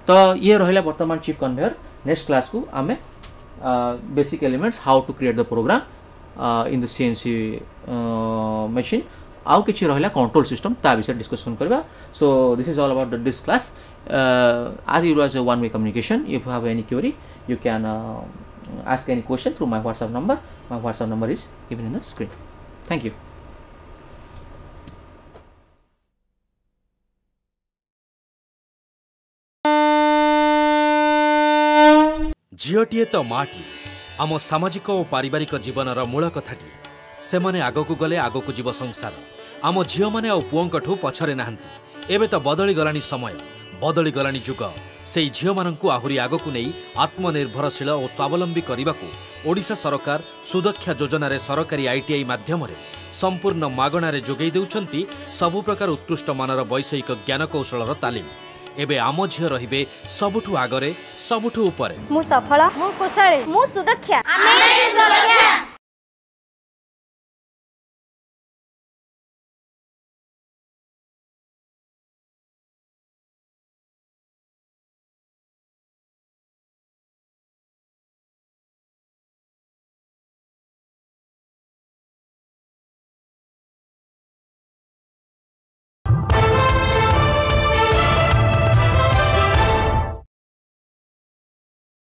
ତ ଇଏ ରହିଲା ବର୍ତ୍ତମାନ ଚିପ୍ କନଭେୟର। ନେକ୍ସଟ କ୍ଲାସ୍କୁ ଆମେ basic elements, how to create the program in the CNC machine, ଆଉ କିଛି ରହିଲା କଣ୍ଟ୍ରୋଲ ସିଷ୍ଟମ୍, ତା ବିଷୟରେ ଡିସ୍କସନ୍ କରିବା। So this is all about this class. As it was a one way communication, if you have any query, you can ask any question through my WhatsApp number. My WhatsApp number is given in the screen. Thank you. ଝିଅଟିଏ ତ ମାଟିଏ, ଆମ ସାମାଜିକ ଓ ପାରିବାରିକ ଜୀବନର ମୂଳ କଥାଟିଏ। ସେମାନେ ଆଗକୁ ଗଲେ ଆଗକୁ ଯିବ ସଂସାର। ଆମ ଝିଅମାନେ ଆଉ ପୁଅଙ୍କଠୁ ପଛରେ ନାହାନ୍ତି। ଏବେ ତ ବଦଳିଗଲାଣି ସମୟ, ବଦଳିଗଲାଣି ଯୁଗ। ସେଇ ଝିଅମାନଙ୍କୁ ଆହୁରି ଆଗକୁ ନେଇ ଆତ୍ମନିର୍ଭରଶୀଳ ଓ ସ୍ୱାବଲମ୍ବୀ କରିବାକୁ ଓଡ଼ିଶା ସରକାର ସୁଦକ୍ଷା ଯୋଜନାରେ ସରକାରୀ ଆଇଟିଆଇ ମାଧ୍ୟମରେ ସମ୍ପୂର୍ଣ୍ଣ ମାଗଣାରେ ଯୋଗାଇ ଦେଉଛନ୍ତି ସବୁ ପ୍ରକାର ଉତ୍କୃଷ୍ଟ ମାନର ବୈଷୟିକ ଜ୍ଞାନକୌଶଳର ତାଲିମ। ଏବେ ଆମ ଝିଅ ରହିବେ ସବୁଠୁ ଆଗରେ, ସବୁଠୁ ଉପରେ। ମୁଁ ସଫଳ, ମୁଁ କୁଶଳୀ, ମୁଁ ସୁଦକ୍ଷା, ଆମେ ସୁଦକ୍ଷା।